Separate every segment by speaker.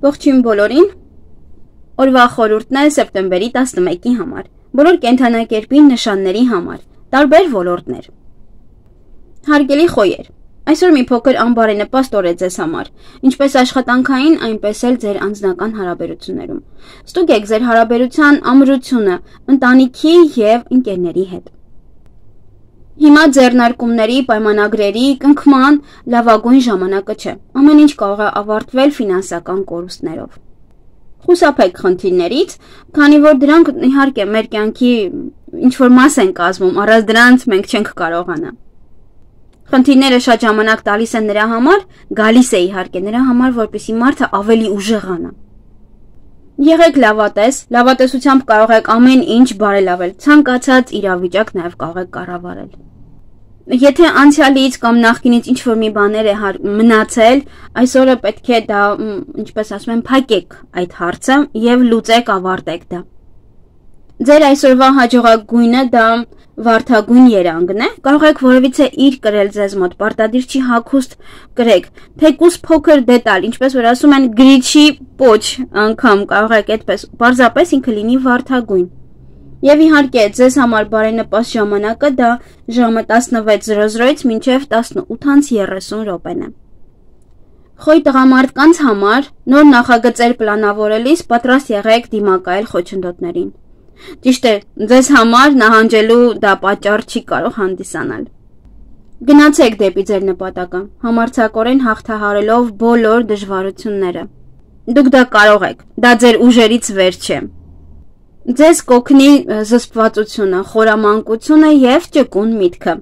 Speaker 1: Ողջույն բոլորին, օրվա խորհուրդն է սեպտեմբերի 11-ի համար, բոլոր կենդանակերպի նշանների համար, տարբեր ոլորտներ։ Հարգելի խոյեր, այսօր մի փոքր անբարենպաստ օր է ձեզ համար, ինչպես աշխատանքային, այնպես էլ ձեր անձնական հարաբերություններում։ Ստուգեք ձեր հարաբերության ամրությունը ընտանիքի և ընկերների հետ։ Հիմա ձեռնարկումների, պայմանագրերի, կնքման լավագույն ժամանակը չէ, ամեն ինչ կարող է ավարտվել ֆինանսական կորուստներով։ Խուսափեք խնդիրներից, քանի որ դրանք իհարկե մեր կյանքի ինչ-որ մաս են կազմում, առանց դրանց մենք չենք կարողանա։ Խնդիրները շատ ժամանակ տալիս են նրա համար, գալիս է իհարկե նրա համար, որպեսզի մարդը ավելի ուժեղանա։ Եղեք լավատես, լավատեսությամբ կարող եք ամեն ինչ բարելավել, ցանկացած իրավիճակ նաև կարող եք կառավարել։ Եթե անցյալից կամ նախկինից ինչ-որ մի բաներ է մնացել, այսօրը պետք է դա, ինչպես ասում են, փակեք այդ հարցը և լուծեք, ավարտեք դա։ Ձեր այսօրվա հաջողագույնը դա վարդագույն երանգն է, կարող եք որևիցե իր կրել ձեզ մոտ, պարտադիր չի հագուստ կրեք, թեկուզ փոքր դետալ, ինչպես որ ասում են գրիչի պոչ անգամ կարող եք այդպես, պարզապես ինքը լինի վարդագույն։ Եվ իհարկե ձեզ համար բարենպաստ ժամանակը դա ժամը 16:00-ից մինչև 18:30 րոպեն է։ Խոյ տղամարդկանց համար նոր նախագծեր պլանավորելիս պատրաստ եղեք դիմակայել խոչընդոտներին։ Ճիշտ է, ձեզ համար նահանջելու դա պատճառ չի կարող հանդիսանալ։ Գնացեք դեպի ձեր նպատակը, համարձակորեն հաղթահարելով բոլոր դժվարությունները։ Դուք դա կարող եք, դա ձեր ուժերից վեր չէ։ Ձեզ կօգնի զսպվածությունը, խորամանկությունը և ճկուն միտքը։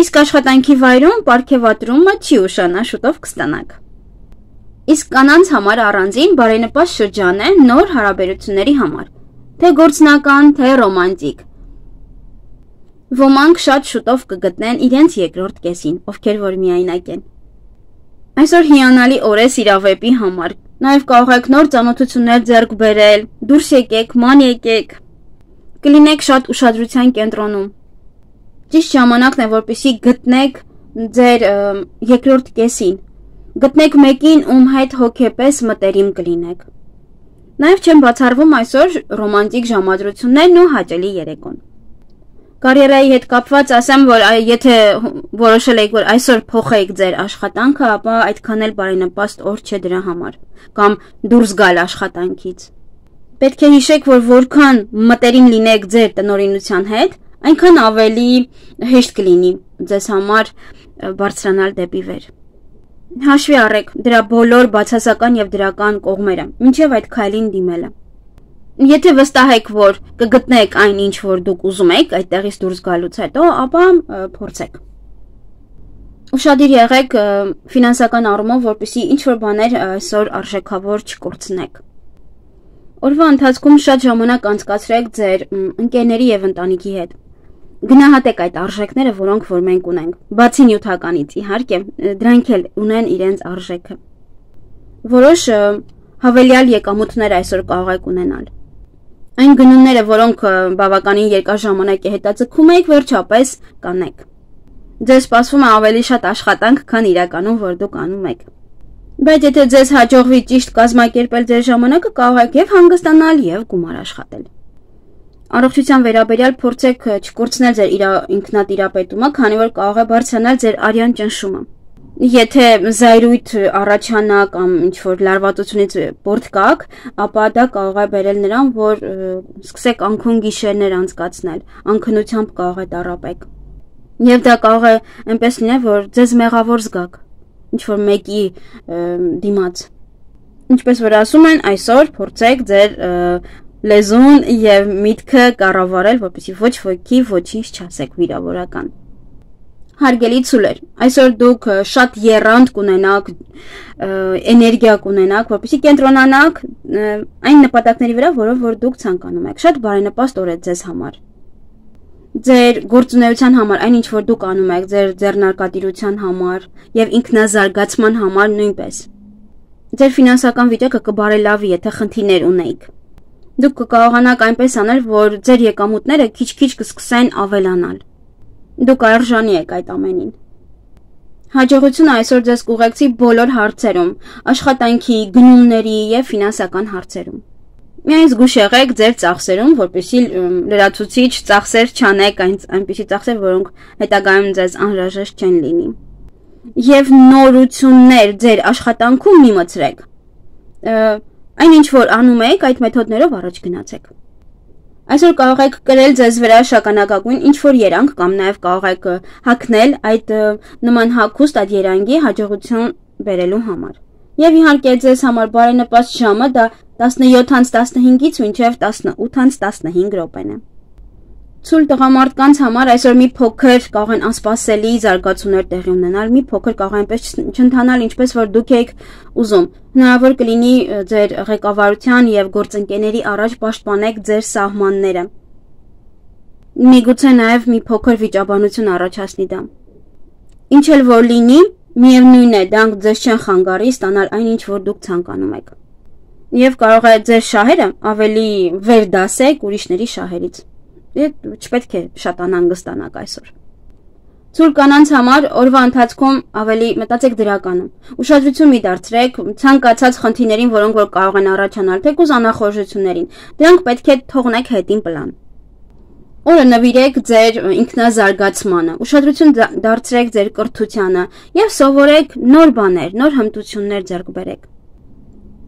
Speaker 1: Իսկ աշխատանքի վայրում պարգևատրումը չի ուշանա, շուտով կստանաք։ Իսկ կանանց համար առանձին բարենպաստ շրջան է նոր հարաբերությունների համար, թե գործնական, թե ռոմանտիկ։ Ոմանք շատ շուտով կգտնեն իրենց երկրորդ կեսին, ովքեր որ միայնակ են։ Այսօր հիանալի օր է սիրավեպի համար, նաև կարող եք նոր ծանոթություններ ձեռք բերել, դուրս եկեք, ման եկեք, կլինեք շատ ուշադրության կենտրոնում։ Ճիշտ ժամանակն է, որպեսզի գտնեք ձեր երկրորդ կեսին, գտնեք մեկին, ում հետ հոգեպես մտերիմ կլինեք։ Նաև չեն բացառվում այսօր ռոմանտիկ ժամադրություններն ու հաճելի երեկոն։ Կարիերայի հետ կապված ասեմ, որ եթե որոշել եք, որ այսօր փոխեք ձեր աշխատանքը, ապա այդքան էլ բարենպաստ օր չէ դրա համար, կամ դուրս գալ աշխատանքից։ Պետք է հիշեք, որ որքան մտերիմ լինեք ձեր տնօրինության հետ, այնքան ավելի հեշտ կլինի ձեզ համար բարձրանալ դեպի վեր։ Հաշվի առեք դրա բոլոր բացասական և դրական կողմերը, մինչև այդ քայլին դիմելը։ Եթե վստահ եք, որ կգտնեք այն, ինչ որ դուք ուզում եք այդտեղից դուրս գալուց հետո, ապա փորձեք։ Ուշադիր եղեք ֆինանսական առումով, որպեսզի ինչ-որ բաներ այսօր արժեքավոր չկորցնեք։ Օրվա ընթացքում շատ ժամանակ անցկացրեք ձեր ընկերների և ընտանիքի հետ։ Գնահատեք այդ արժեքները, որոնք որ մենք ունենք, բացի նյութականից, իհարկե, դրանք էլ ունեն իրենց արժեքը։ Որոշ հավելյալ եկամուտներ այսօր կարող եք ունենալ։ Այն գնումները, որոնք բավականին երկար ժամանակ է հետաձգում եք, վերջապես կանեք։ Ձեզ սպասվում է ավելի շատ աշխատանք, քան իրականում, որ դուք անում եք։ Բայց եթե ձեզ հաջողվի ճիշտ կազմակերպել ձեր ժամանակը, կարող եք և հանգստանալ, և գումար աշխատել։ Առողջության վերաբերյալ փորձեք չկորցնել ձեր ինքնատիրապետումը, քանի որ կարող է բարձրանալ ձեր արյան ճնշումը։ Եթե զայրույթ առաջանա կամ ինչ-որ լարվածությունից պոռթկաք, ապա դա կարող է բերել նրան, որ սկսեք անքուն գիշերներ անցկացնել, անքնությամբ կարող է տառապեք։ Եվ դա կարող է այնպես լինել, որ ձեզ մեղավոր զգաք, ինչ-որ մեկի դիմաց։ Ինչպես որ ասում են, այսօր փորձեք ձեր լեզուն և միտքը կառավարել, որպեսզի ոչ ոքի ոչինչ չասեք վիրավորական։ Հարգելի ցուլեր, այսօր դուք շատ եռանդ կունենաք, էներգիա կունենաք, որպեսզի կենտրոնանաք այն նպատակների վրա, որով որ դուք ցանկանում եք։ Շատ բարենպաստ օր է ձեզ համար։ Ձեր գործունեության համար, այն ինչ որ դուք անում եք, ձեր ձեռնարկատիրության համար և ինքնազարգացման համար նույնպես։ Ձեր ֆինանսական վիճակը կբարելավի, եթե խնդիրներ ունեիք։ Դուք կկարողանաք այնպես անել, որ ձեր եկամուտները քիչ-քիչ կսկսեն ավելանալ։ Դուք արժանի եք այդ ամենին։ Հաջողությունը այսօր ձեզ կուղեկցի բոլոր հարցերում, աշխատանքի, գնումների և ֆինանսական հարցերում։ Միայն զգույշ եղեք ձեր ծախսերում, որպեսզի լրացուցիչ ծախսեր չանեք, այնպիսի ծախսեր, որոնք հետագայում ձեզ անհրաժեշտ չեն լինի։ Եվ նորություններ ձեր աշխատանքում մի մտցրեք։ Այն ինչ որ անում եք, այդ մեթոդներով առաջ գնացեք։ Այսօր կարող եք կրել ձեզ վրա շագանակագույն ինչ-որ երանգ կամ նաև կարող եք հագնել այդ նման հագուստ այդ երանգի հաջողություն բերելու համար։ Եվ իհարկե ձեզ համար բարենպաստ ժամը դա 17:15-ից մինչև 18:15 րոպեն է։ Ցույլ տղամարդկանց համար այսօր մի փոքր կարող են անսպասելի զարգացումներ տեղի ունենալ, մի փոքր կարող այնպես չընթանալ, ինչպես որ դուք եք ուզում։ Հնարավոր կլինի ձեր ղեկավարության եւ գործընկերների առաջ պաշտպանեք ձեր սահմանները։ Միգուցե նաեւ մի փոքր վիճաբանություն առաջացնի դա։ Ինչ էլ որ լինի, միևնույն է, դրանք ձեզ չեն խանգարի ստանալ այն ինչ որ դուք ցանկանում եք։ Եվ կարող է ձեր շահերը ավելի վեր դասեք ուրիշների շահերից։ Չպետք է շատ անհանգստանաք այսօր։ Ցույլ կանանց համար օրվա ընթացքում ավելի մտածեք դրականում։ Ուշադրություն մի դարձրեք ցանկացած խնդիրներին, որոնք որ կարող են առաջանալ, թեկուզ անախորժություններին։ Դրանք պետք է թողնեք հետին պլան։ Օրը նվիրեք ձեր ինքնազարգացմանը, ուշադրություն դարձրեք ձեր կրթությանը եւ սովորեք նոր բաներ, նոր հմտություններ ձեռք բերեք։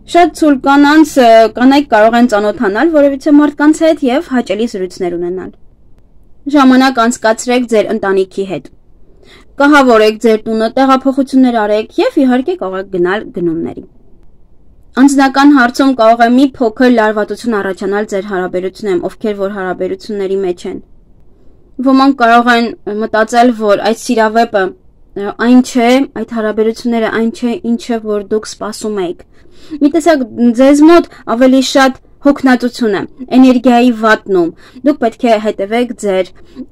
Speaker 1: Շատ ցույլ կանայք կարող են ծանոթանալ որևիցե մարդկանց հետ եւ հաճելի զրույցներ ունենալ։ Ժամանակ անցկացրեք ձեր ընտանիքի հետ։ Կահավորեք ձեր տունը, տեղափոխություններ արեք եւ իհարկե կարող եք գնալ գնումների։ Անձնական հարցում կարող է մի փոքր լարվածություն առաջանալ ձեր հարաբերություններում, ովքեր որ հարաբերությունների մեջ են։ Ոմանք կարող են մտածել, որ այդ սիրավեպը այն չէ, այդ հարաբերությունները այն չէ, ինչը որ դուք սպասում եք։ Մի տեսակ ձեզ մոտ ավելի շատ հոգնածություն է, էներգիայի վատնում։ Դուք պետք է հետևեք ձեր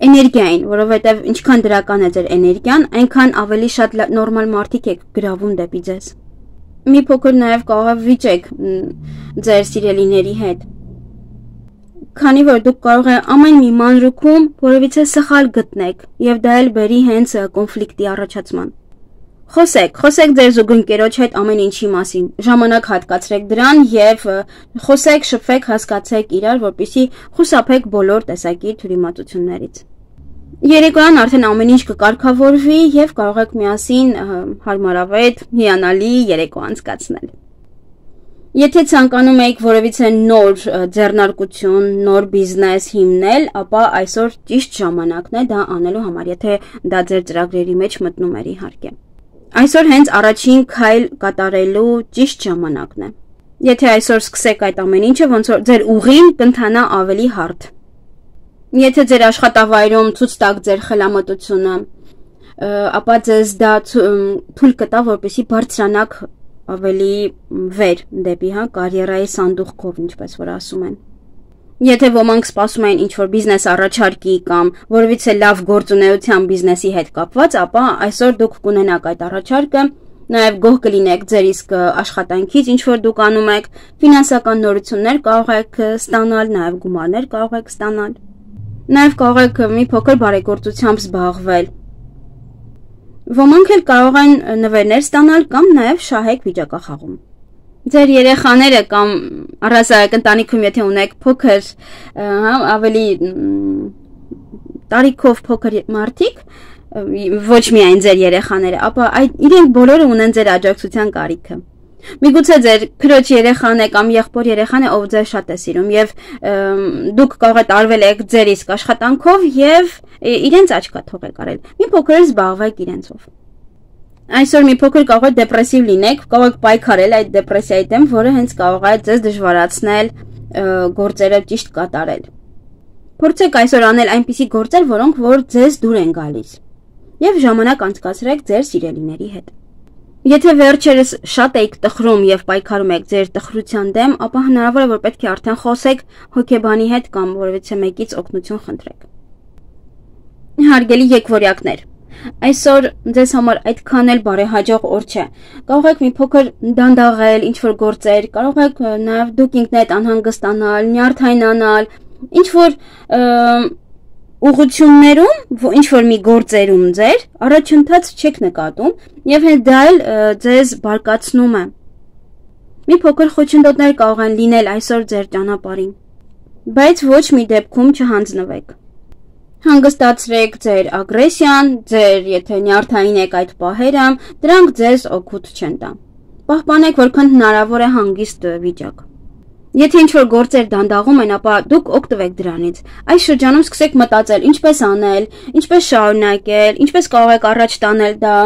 Speaker 1: էներգիային, որովհետև ինչքան դրական է ձեր էներգիան, այնքան ավելի շատ նորմալ մարդիկ եք գրավում դեպի ձեզ։ Մի փոքր նաև կարող է վիճեք ձեր սիրելիների հետ։ Քանի որ դուք կարող եք ամեն մի մանրուքում որևիցե սխալ գտնեք, եւ դա էլ բերի հենց կոնֆլիկտի առաջացման։ Խոսեք ձեր զուգընկերոջ հետ ամեն ինչի մասին, ժամանակ հատկացրեք դրան եւ խոսեք, շփվեք, հասկացեք իրար, որպեսզի խուսափեք բոլոր տեսակի թյուրիմացություններից։ Երեկոյան արդեն ամեն ինչ կկարգավորվի եւ կարող եք միասին հարմարավետ, հիանալի երեկո անցկացնել։ Եթե ցանկանում եք որևիցե նոր ձեռնարկություն, նոր բիզնես հիմնել, ապա այսօր ճիշտ ժամանակն է դա անելու համար, եթե դա ձեր ծրագրերի մեջ մտնում էր իհարկե։ Այսօր հենց առաջին քայլ կատարելու ճիշտ ժամանակն է։ Եթե այսօր սկսեք այդ ամեն ինչը, ոնց որ ձեր ուղին կընթանա ավելի հարթ։ Եթե ձեր աշխատավայրում ցույց տաք ձեր խելամտությունը, ապա ձեզ դա թույլ կտա, որպեսզի բարձրանաք ավելի վեր դեպի կարիերայի սանդուղքով, ինչպես որ ասում են։ Եթե ոմանք սպասում են ինչ-որ բիզնես առաջարկի կամ որևիցե լավ գործունեության բիզնեսի հետ կապված, ապա այսօր դուք կունենաք այդ առաջարկը, նաև գոհ կլինեք ձեր իսկ աշխատանքից, ինչ-որ դուք անում եք, ֆինանսական նորություններ կարող եք ստանալ, նաև գումարներ կարող եք ստանալ, նաև կարող եք մի փոքր բարեգործությամբ զբաղվել։ Ոմանք էլ կարող են նվերներ ստանալ կամ նաև շահեք վիճակախաղում։ Ձեր երեխաները կամ առհասարակ ընտանիքում եթե ունեք փոքր, ավելի տարիքով փոքր մարդիկ, ոչ միայն ձեր երեխաները, ապա իրենք բոլորը ունեն ձեր աջակցության կարիքը։ Միգուցե ձեր քրոջ երեխան է կամ եղբոր երեխան է, ով ձեզ շատ է սիրում եւ դուք կարող եք տարվել եք ձեր իսկ աշխատանքով եւ իրենց աչքա թողեք արել։ Մի փոքր զբաղվեք իրենցով։ Այսօր մի փոքր կարող եք դեպրեսիվ լինեք, կարող եք պայքարել այդ դեպրեսիայի դեմ, որը հենց կարող է ձեզ դժվարացնել գործերը ճիշտ կատարել։ Փորձեք այսօր անել այնպիսի գործեր, որոնք որ ձեզ դուր են գալիս, եւ ժամանակ անցկացրեք ձեր սիրելիների հետ։ Եթե վերջերս շատ եք տխրում եւ պայքարում եք ձեր տխրության դեմ, ապա հնարավոր է որ պետք է արդեն խոսեք հոգեբանի հետ կամ որևիցե մեկից օգնություն խնդրեք։ Հարգելի եկվորյակներ, այսօր ձեզ համար այդքան էլ բարեհաջող օր չէ։ Կարող եք մի փոքր դանդաղել, ինչ-որ գործեր, կարող եք նաև դուք ինքներդ անհանգստանալ, նյարդայնանալ, ինչ-որ ուղղություններում, ինչ որ մի գործերում ձեր առաջընթաց չեք նկատում եւ հենց դա էլ ձեզ բարկացնում է։ Մի փոքր խոչընդոտներ կարող են լինել այսօր ձեր ճանապարհին, բայց ոչ մի դեպքում չհանձնվեք։ Հանգստացրեք ձեր ագրեսիան, ձեր եթե նյարդային եք այդ պահերը, դրանք ձեզ օգուտ չեն տա։ Պահպանեք որքան հնարավոր է հանգիստ վիճակ։ Եթե ինչ-որ գործեր դանդաղում են, ապա դուք օգտվեք դրանից։ Այս շրջանում սկսեք մտածել, ինչպես անել, ինչպես շարունակել, ինչպես կարող եք առաջ տանել դա,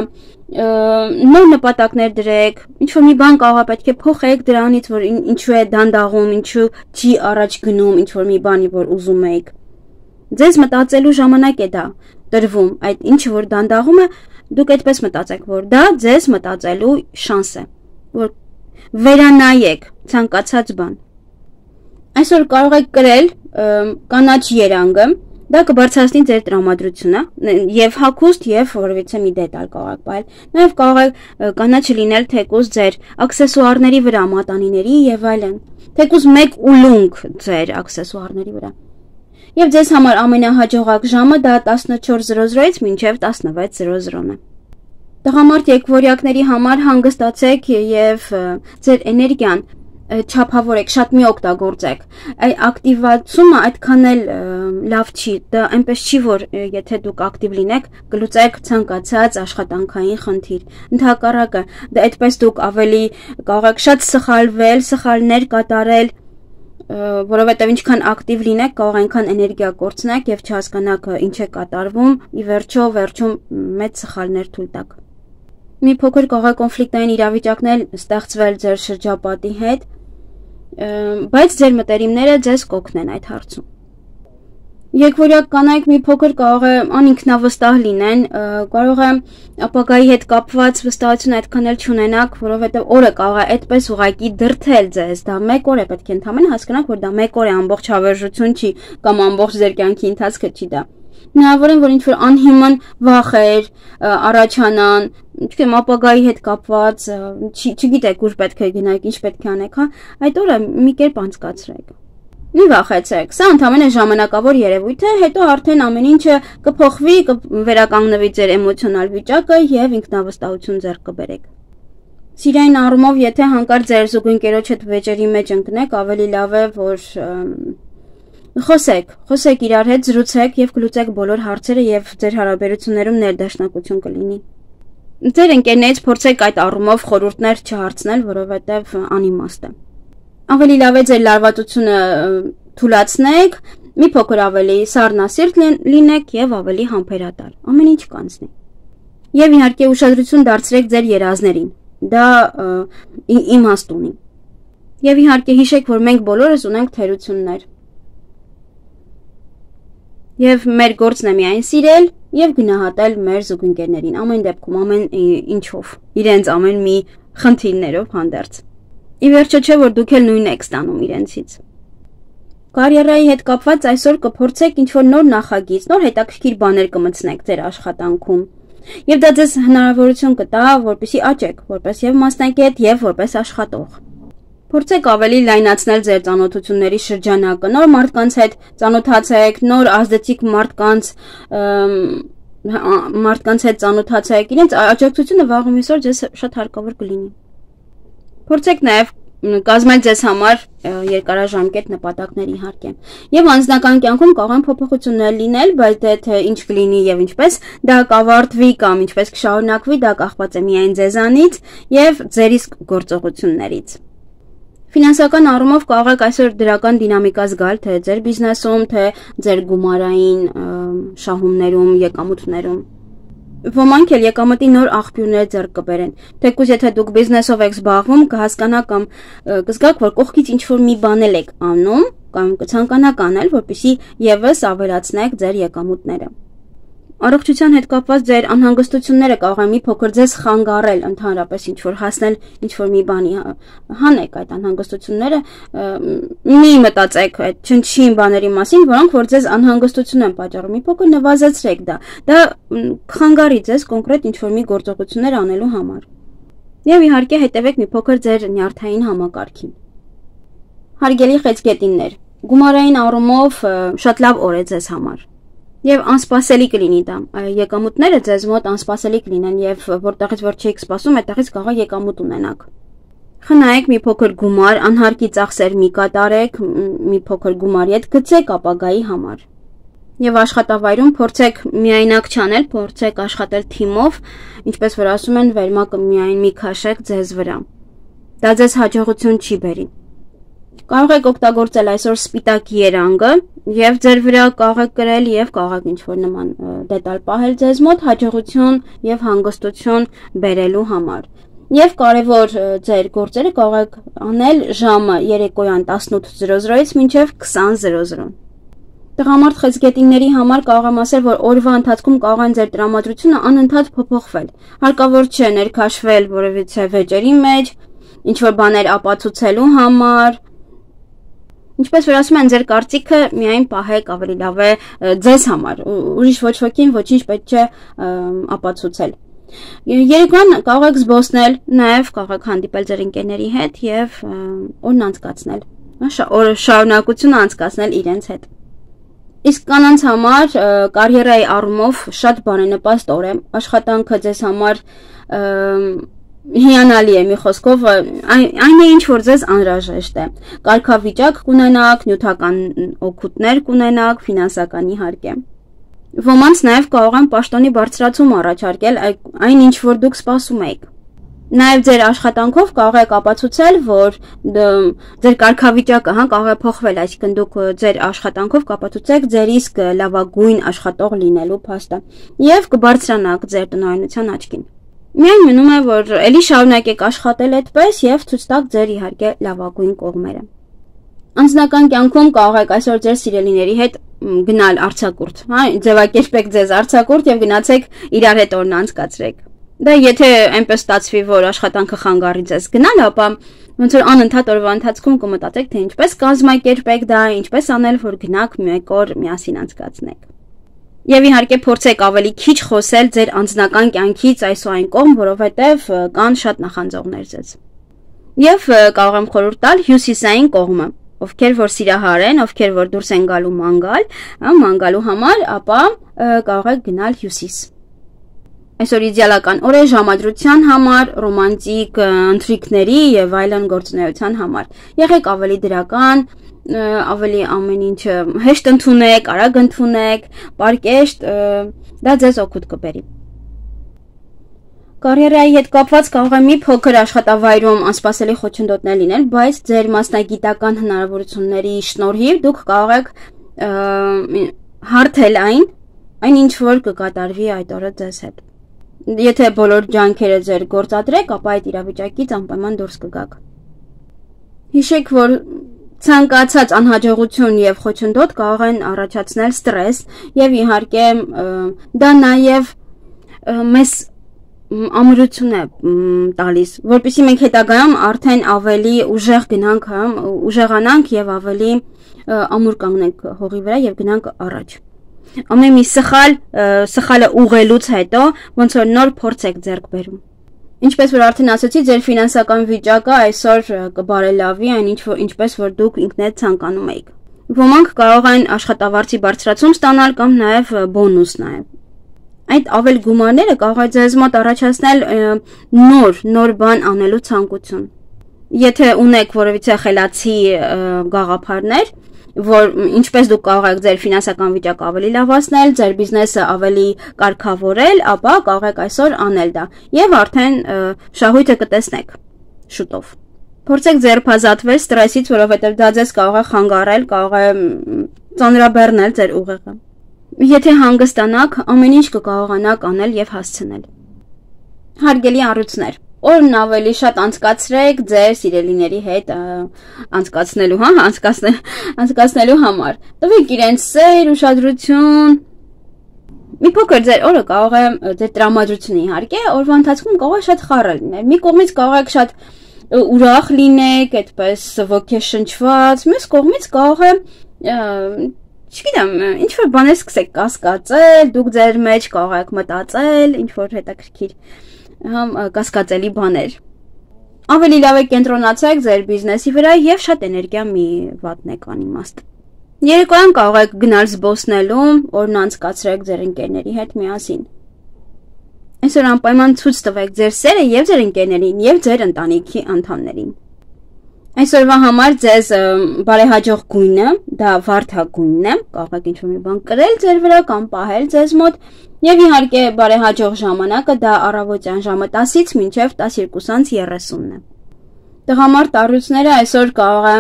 Speaker 1: նոր նպատակներ դրեք, ինչ-որ մի բան կարող է պետք է փոխեք դրանից, որ ինչու է դանդաղում, ինչու չի առաջ գնում, ինչ-որ մի բանի, որ ուզում եք։ Ձեզ մտածելու ժամանակ է դա տրվում, այդ ինչը որ դանդաղում է, դուք այդպես մտածեք, որ դա ձեզ մտածելու շանս է, որ վերանայեք ցանկացած բան։ Այսօր կարող եք կրել կանաչ երանգը, դա կբարձրացնի ձեր տրամադրությունը եւ հագուստ եւ որևիցե մի դետալ կարող եք պահել։ Նաեւ կարող է կանաչը լինել թեկուզ ձեր աքսեսուարների վրա, մատանիների եւ այլն, թեկուզ մեկ ուլունք ձեր աքսեսուարների վրա։ Եվ ձեզ համար ամենահաջողակ ժամը դա 14:00-ից մինչև 16:00-ն է։ Տղամարդ եկվորյակների համար հանգստացեք եւ ձեր էներգիան չափավորեք, շատ մի օգտագործեք։ Այդ ակտիվացումը այդքան էլ լավ չի, դա այնպես չի, որ եթե դուք ակտիվ լինեք, կլուծեք ցանկացած աշխատանքային խնդիր։ Ընդհակառակը, դա այդպես դուք ավելի կարող եք շատ սխալվել, սխալներ կատարել, որովհետև ինչքան ակտիվ լինեք, կարող այնքան էներգիա կորցնեք եւ չհասկանաք ինչ է կատարվում, ի վերջում մեծ սխալներ թույլ տաք։ Մի փոքր կարող է կոնֆլիկտային իրավիճակներ ստեղծվել ձեր շրջապատի հետ, բայց ձեր մտերիմները ձեզ կօգնեն այդ հարցում։ Եկվորյակ կանայք մի փոքր կարող է անինքնավստահ լինեն, կարող է ապագայի հետ կապված վստահություն այդքան էլ չունենաք, որովհետև օրը կարող է այդպես ուղակի դրթել ձեզ, դա մեկ օր է, պետք է ընդհանրապես հասկանաք, որ դա մեկ օր է, ամբողջ հավերժություն չի կամ ամբողջ ձեր կյանքի ընթացքը չի դա։ Հնարավոր է, որ ինչ-որ անհիմն վախեր առաջանան, չգիտեմ, ապագայի հետ կապված, չգիտեք ուր պետք է գնաք, ինչ պետք է անեք, հա, այդ օրը մի կերպ անցկացրեք։ Մի վախեցեք, սա ընդհանրապես ժամանակավոր երևույթ է, հետո արդեն ամեն ինչը կփոխվի, կվերականգնվի ձեր էմոցիոնալ վիճակը եւ ինքնավստահություն ձեռք կբերեք։ Սիրային առումով, եթե հանկարծ ձեր զուգընկերոջ հետ վեճերի մեջ ընկնեք, ավելի լավ է, որ խոսեք իրար հետ, զրուցեք եւ կլուծեք բոլոր հարցերը եւ ձեր հարաբերություններում ներդաշնակություն կլինի։ Ձեր ընկերներից փորձեք այդ առումով խորհուրդներ չհարցնել, որովհետեւ անիմաստ է։ Ավելի լավ է ձեր լարվածությունը թուլացնեք, մի փոքր ավելի սառնասիրտ լինեք եւ ավելի համբերատար։ Ամեն ինչ կանցնի։ Եվ իհարկե ուշադրություն դարձրեք ձեր երազներին։ Դա իմաստ ունի։ Եվ իհարկե հիշեք, որ մենք բոլորս ունենք թերություններ։ Եվ մեր գործն է միայն սիրել եւ գնահատել մեր զուգընկերներին, ամեն դեպքում, ամեն ինչով, իրենց ամեն մի խնդիրներով հանդերձ։ Ի վերջո չէ, որ դուք էլ նույնն եք ստանում իրենցից։ Կարիերայի հետ կապված այսօր կփորձեք ինչ-որ նոր նախագիծ, նոր հետաքրքիր բաներ կմտցնեք ձեր աշխատանքում։ Եվ դա ձեզ հնարավորություն կտա, որպեսզի աճեք, որպես եւ մասնակից եւ որպես աշխատող։ Փորձեք ավելի լայնացնել ձեր ծանոթությունների շրջանակը, նոր մարդկանց հետ ծանոթացեք, նոր ազդեցիկ մարդկանց հետ ծանոթացեք, իրենց աջակցությունը վաղ այսօր ձեզ շատ հարկավոր կլինի։ Փորձեք նաև կազմել ձեզ համար երկարաժամկետ նպատակներ իհարկե։ Եվ անձնական կյանքում կարող են փոփոխություններ լինել, բայց թե ինչ կլինի եւ ինչպես դա կավարտվի կամ ինչպես կշարունակվի, դա կախված է միայն ձեզանից եւ ձեր իսկ գործողություններից։ Ֆինանսական առումով կարող եք այսօր դրական դինամիկա զգալ թե ձեր բիզնեսում, թե ձեր գումարային շահումներում, եկամուտներում։ Ոմանք էլ եկամտի նոր աղբյուրներ ձեռք կբերեն։ Թեկուզ եթե դուք բիզնեսով եք զբաղվում, կհասկանաք կամ կզգաք, որ կողքից ինչ-որ մի բան եք անում կամ կցանկանաք անել, որպեսզի եւս ավելացնեք ձեր եկամուտները։ Առողջության հետ կապված ձեր անհանգստությունները կարող են մի փոքր ձեզ խանգարել ընդհանրապես ինչ-որ հասնել ինչ-որ մի բանի, հանեք այդ անհանգստությունները, մի մտածեք այդ չնչին բաների մասին, որոնք որ ձեզ անհանգստություն են պատճառում, մի փոքր նվազեցրեք դա խանգարի ձեզ կոնկրետ ինչ-որ մի գործողություններ անելու համար։ Եվ իհարկե հետևեք մի փոքր ձեր նյարդային համակարգին։ Հարգելի խեցգետիններ, գումարային առումով շատ լավ օր է ձեզ համար։ Եվ անսպասելի կլինի դա։ Եկամուտները ձեզ մոտ անսպասելի կլինեն եւ որտեղից որ չեք սպասում, այդտեղից կարող եք եկամուտ ունենաք։ Խնայեք մի փոքր գումար, անհարկի ծախսեր մի կատարեք, մի փոքր գումարի հետ գցեք ապագայի համար։ Եվ աշխատավայրում փորձեք միայնակ չանել, փորձեք աշխատել թիմով, ինչպես որ ասում են, վերմակը միայն մի քաշեք ձեզ վրա։ Դա ձեզ հաջողություն չի բերի։ Կարող եք օգտագործել այսօր սպիտակ երանգը եւ ձեր վրա կարող եք կրել եւ կարող եք ինչ-որ նման դետալ պահել ձեզ մոտ հաջողություն եւ հանգստություն բերելու համար։ Եվ կարևոր ձեր գործերը կարող եք անել ժամը երեկոյան 18:00-ից մինչև 20:00։ Տղամարդ խեցգետինների համար կարող եմ ասել, որ օրվա ընթացքում կարող են ձեր տրամադրությունը անընդհատ փոփոխվել։ Հարկավոր չէ ներքաշվել որևիցե վեճերի մեջ, ինչ-որ բաներ ապացուցելու համար։ Ինչպես որ ասում են, ձեր կարծիքը միայն պահեք, ավելի լավ է ձեզ համար, ուրիշ ոչ ոքին ոչինչ պետք չէ ապացուցել։ Երեկոյան կարող եք զբոսնել, նաև կարող եք հանդիպել ձեր ընկերների հետ եւ օրն անցկացնել, շարունակությունը անցկացնել իրենց հետ։ Իսկ կանանց համար կարիերայի առումով շատ բարենպաստ օր է, աշխատանքը ձեզ համար հիանալի է, մի խոսքով այն է, ինչ որ ձեզ անհրաժեշտ է։ Կարգավիճակ կունենաք, նյութական օգուտներ կունենաք, ֆինանսական իհարկե։ Ոմանց նաև կարող են պաշտոնի բարձրացում առաջարկել այն, ինչ որ դուք սպասում եք։ Նաև ձեր աշխատանքով կարող եք ապացուցել, որ ձեր կարգավիճակը կարող է փոխվել, այսինքն դուք ձեր աշխատանքով կապացուցեք ձեր իսկ լավագույն աշխատող լինելու փաստը եւ կբարձրանաք ձեր տնօրինության աչքին։ Միայն մնում է, որ ելի շարունակեք աշխատել այդպես եւ ցույց տաք ձեր իհարկե լավագույն կողմերը։ Անձնական կյանքում կարող եք այսօր ձեր սիրելիների հետ գնալ արձակուրդ, ձևակերպեք ձեզ արձակուրդ եւ գնացեք իրար հետ օրն անցկացրեք։ Դա եթե այնպես ստացվի, որ աշխատանքը խանգարի ձեզ գնալ, ապա ոնց որ անընդհատ օրվա ընթացքում կմտածեք, թե ինչպես կազմակերպեք դա, ինչպես անել, որ գնաք մեկ օր միասին անցկացնեք։ Եվ իհարկե փորձեք ավելի քիչ խոսել ձեր անձնական կյանքից այս ու այն կողմ, որովհետև կան շատ նախանձողներ ձեզ։ Եվ կարող եմ խորհուրդ տալ հյուսիսային կողմը, ովքեր որ սիրահար են, ովքեր որ դուրս են գալու մանգալու համար, ապա կարող եք գնալ հյուսիս։ Այսօր իդեալական օր է ժամադրության համար, ռոմանտիկ ընթրիքների եւ այլն գործունեության համար։ Եղեք ավելի դրական, ավելի ամեն ինչ հեշտ ընդունեք, արագ ընդունեք, պարկեշտ, դա ձեզ օգուտ կբերի։ Կարիերայի հետ կապված կարող է մի փոքր աշխատավայրում անսպասելի խոչընդոտներ լինել, բայց ձեր մասնագիտական հնարավորությունների շնորհիվ դուք կարող եք հարթել այն ինչ որ կկատարվի այդ օրը ձեզ հետ։ Եթե բոլոր ջանքերը ձեր գործադրեք, ապա այդ իրավիճակից անպայման դուրս կգաք։ Հիշեք, որ ցանկացած անհաջողություն եւ խոչընդոտ կարող են առաջացնել ստրես եւ իհարկե դա նաեւ մեզ ամրություն է տալիս, որպեսզի մենք հետագայում արդեն ավելի ուժեղ ուժեղանանք եւ ավելի ամուր կանգնենք հողի վրա եւ գնանք առաջ։ Ամեն մի սխալը ուղղելուց հետո ոնց որ նոր փորձ եք ձեռք բերում։ Ինչպես որ արդեն ասացի, ձեր ֆինանսական վիճակը այսօր կբարելավի այն ինչպես որ դուք ինքներդ ցանկանում եք։ Ոմանք կարող են աշխատավարձի բարձրացում ստանալ կամ նաև բոնուս նաև։ Այդ ավել գումարները կարող է ձեզ մոտ առաջացնել նոր բան անելու ցանկություն։ Եթե ունեք որևիցե խելացի գաղափարներ, որ ինչպես դուք կարող եք ձեր ֆինանսական վիճակը ավելի լավացնել, ձեր բիզնեսը ավելի կարգավորել, ապա կարող եք այսօր անել դա եւ արդեն շահույթը կտեսնեք շուտով։ Փորձեք ձերբազատվել ստրեսից, որովհետեւ դա ձեզ կարող է խանգարել, կարող է ծանրաբեռնել ձեր ուղեղը։ Եթե հանգստանաք, ամեն ինչ կկարողանաք անել եւ հասցնել։ Հարգելի առույցներ, օրն ավելի շատ անցկացրեք ձեր սիրելիների հետ անցկացնելու համար։ Տվեք իրենց սեր, ուշադրություն։ Մի փոքր ձեր օրը կարող է ձեր տրամադրությունը իհարկե, օրվա ընթացքում կարող է շատ խառը լինել։ Մի կողմից կարող եք շատ ուրախ լինեք, այդպես ոգեշնչված, մյուս կողմից կարող է չգիտեմ, ինչ որ բաներ սկսեք կասկածել, դուք ձեր մեջ կարող եք մտածել, ինչ որ հետաքրքիր կասկածելի բաներ։ Ավելի լավ է կենտրոնացեք ձեր բիզնեսի վրա եւ շատ էներգիա մի վատնեք անիմաստ։ Երեկոյան կարող եք գնալ զբոսնելու, օրն անցկացրեք ձեր ընկերների հետ միասին։ Այսօր անպայման ցույց տվեք ձեր սերը եւ ձեր ընկերներին եւ ձեր ընտանիքի անդամներին։ Այսօրվա համար ձեզ բարեհաջող գույնը, դա վարդագույնն է, կարող եք ինչ-որ մի բան կրել ձեր վրա կամ պահել ձեզ մոտ, եւ իհարկե բարեհաջող ժամանակը դա առավոտյան ժամը 10-ից մինչև 12:30-ն է։ Տղամարդ առյուծները այսօր կարող է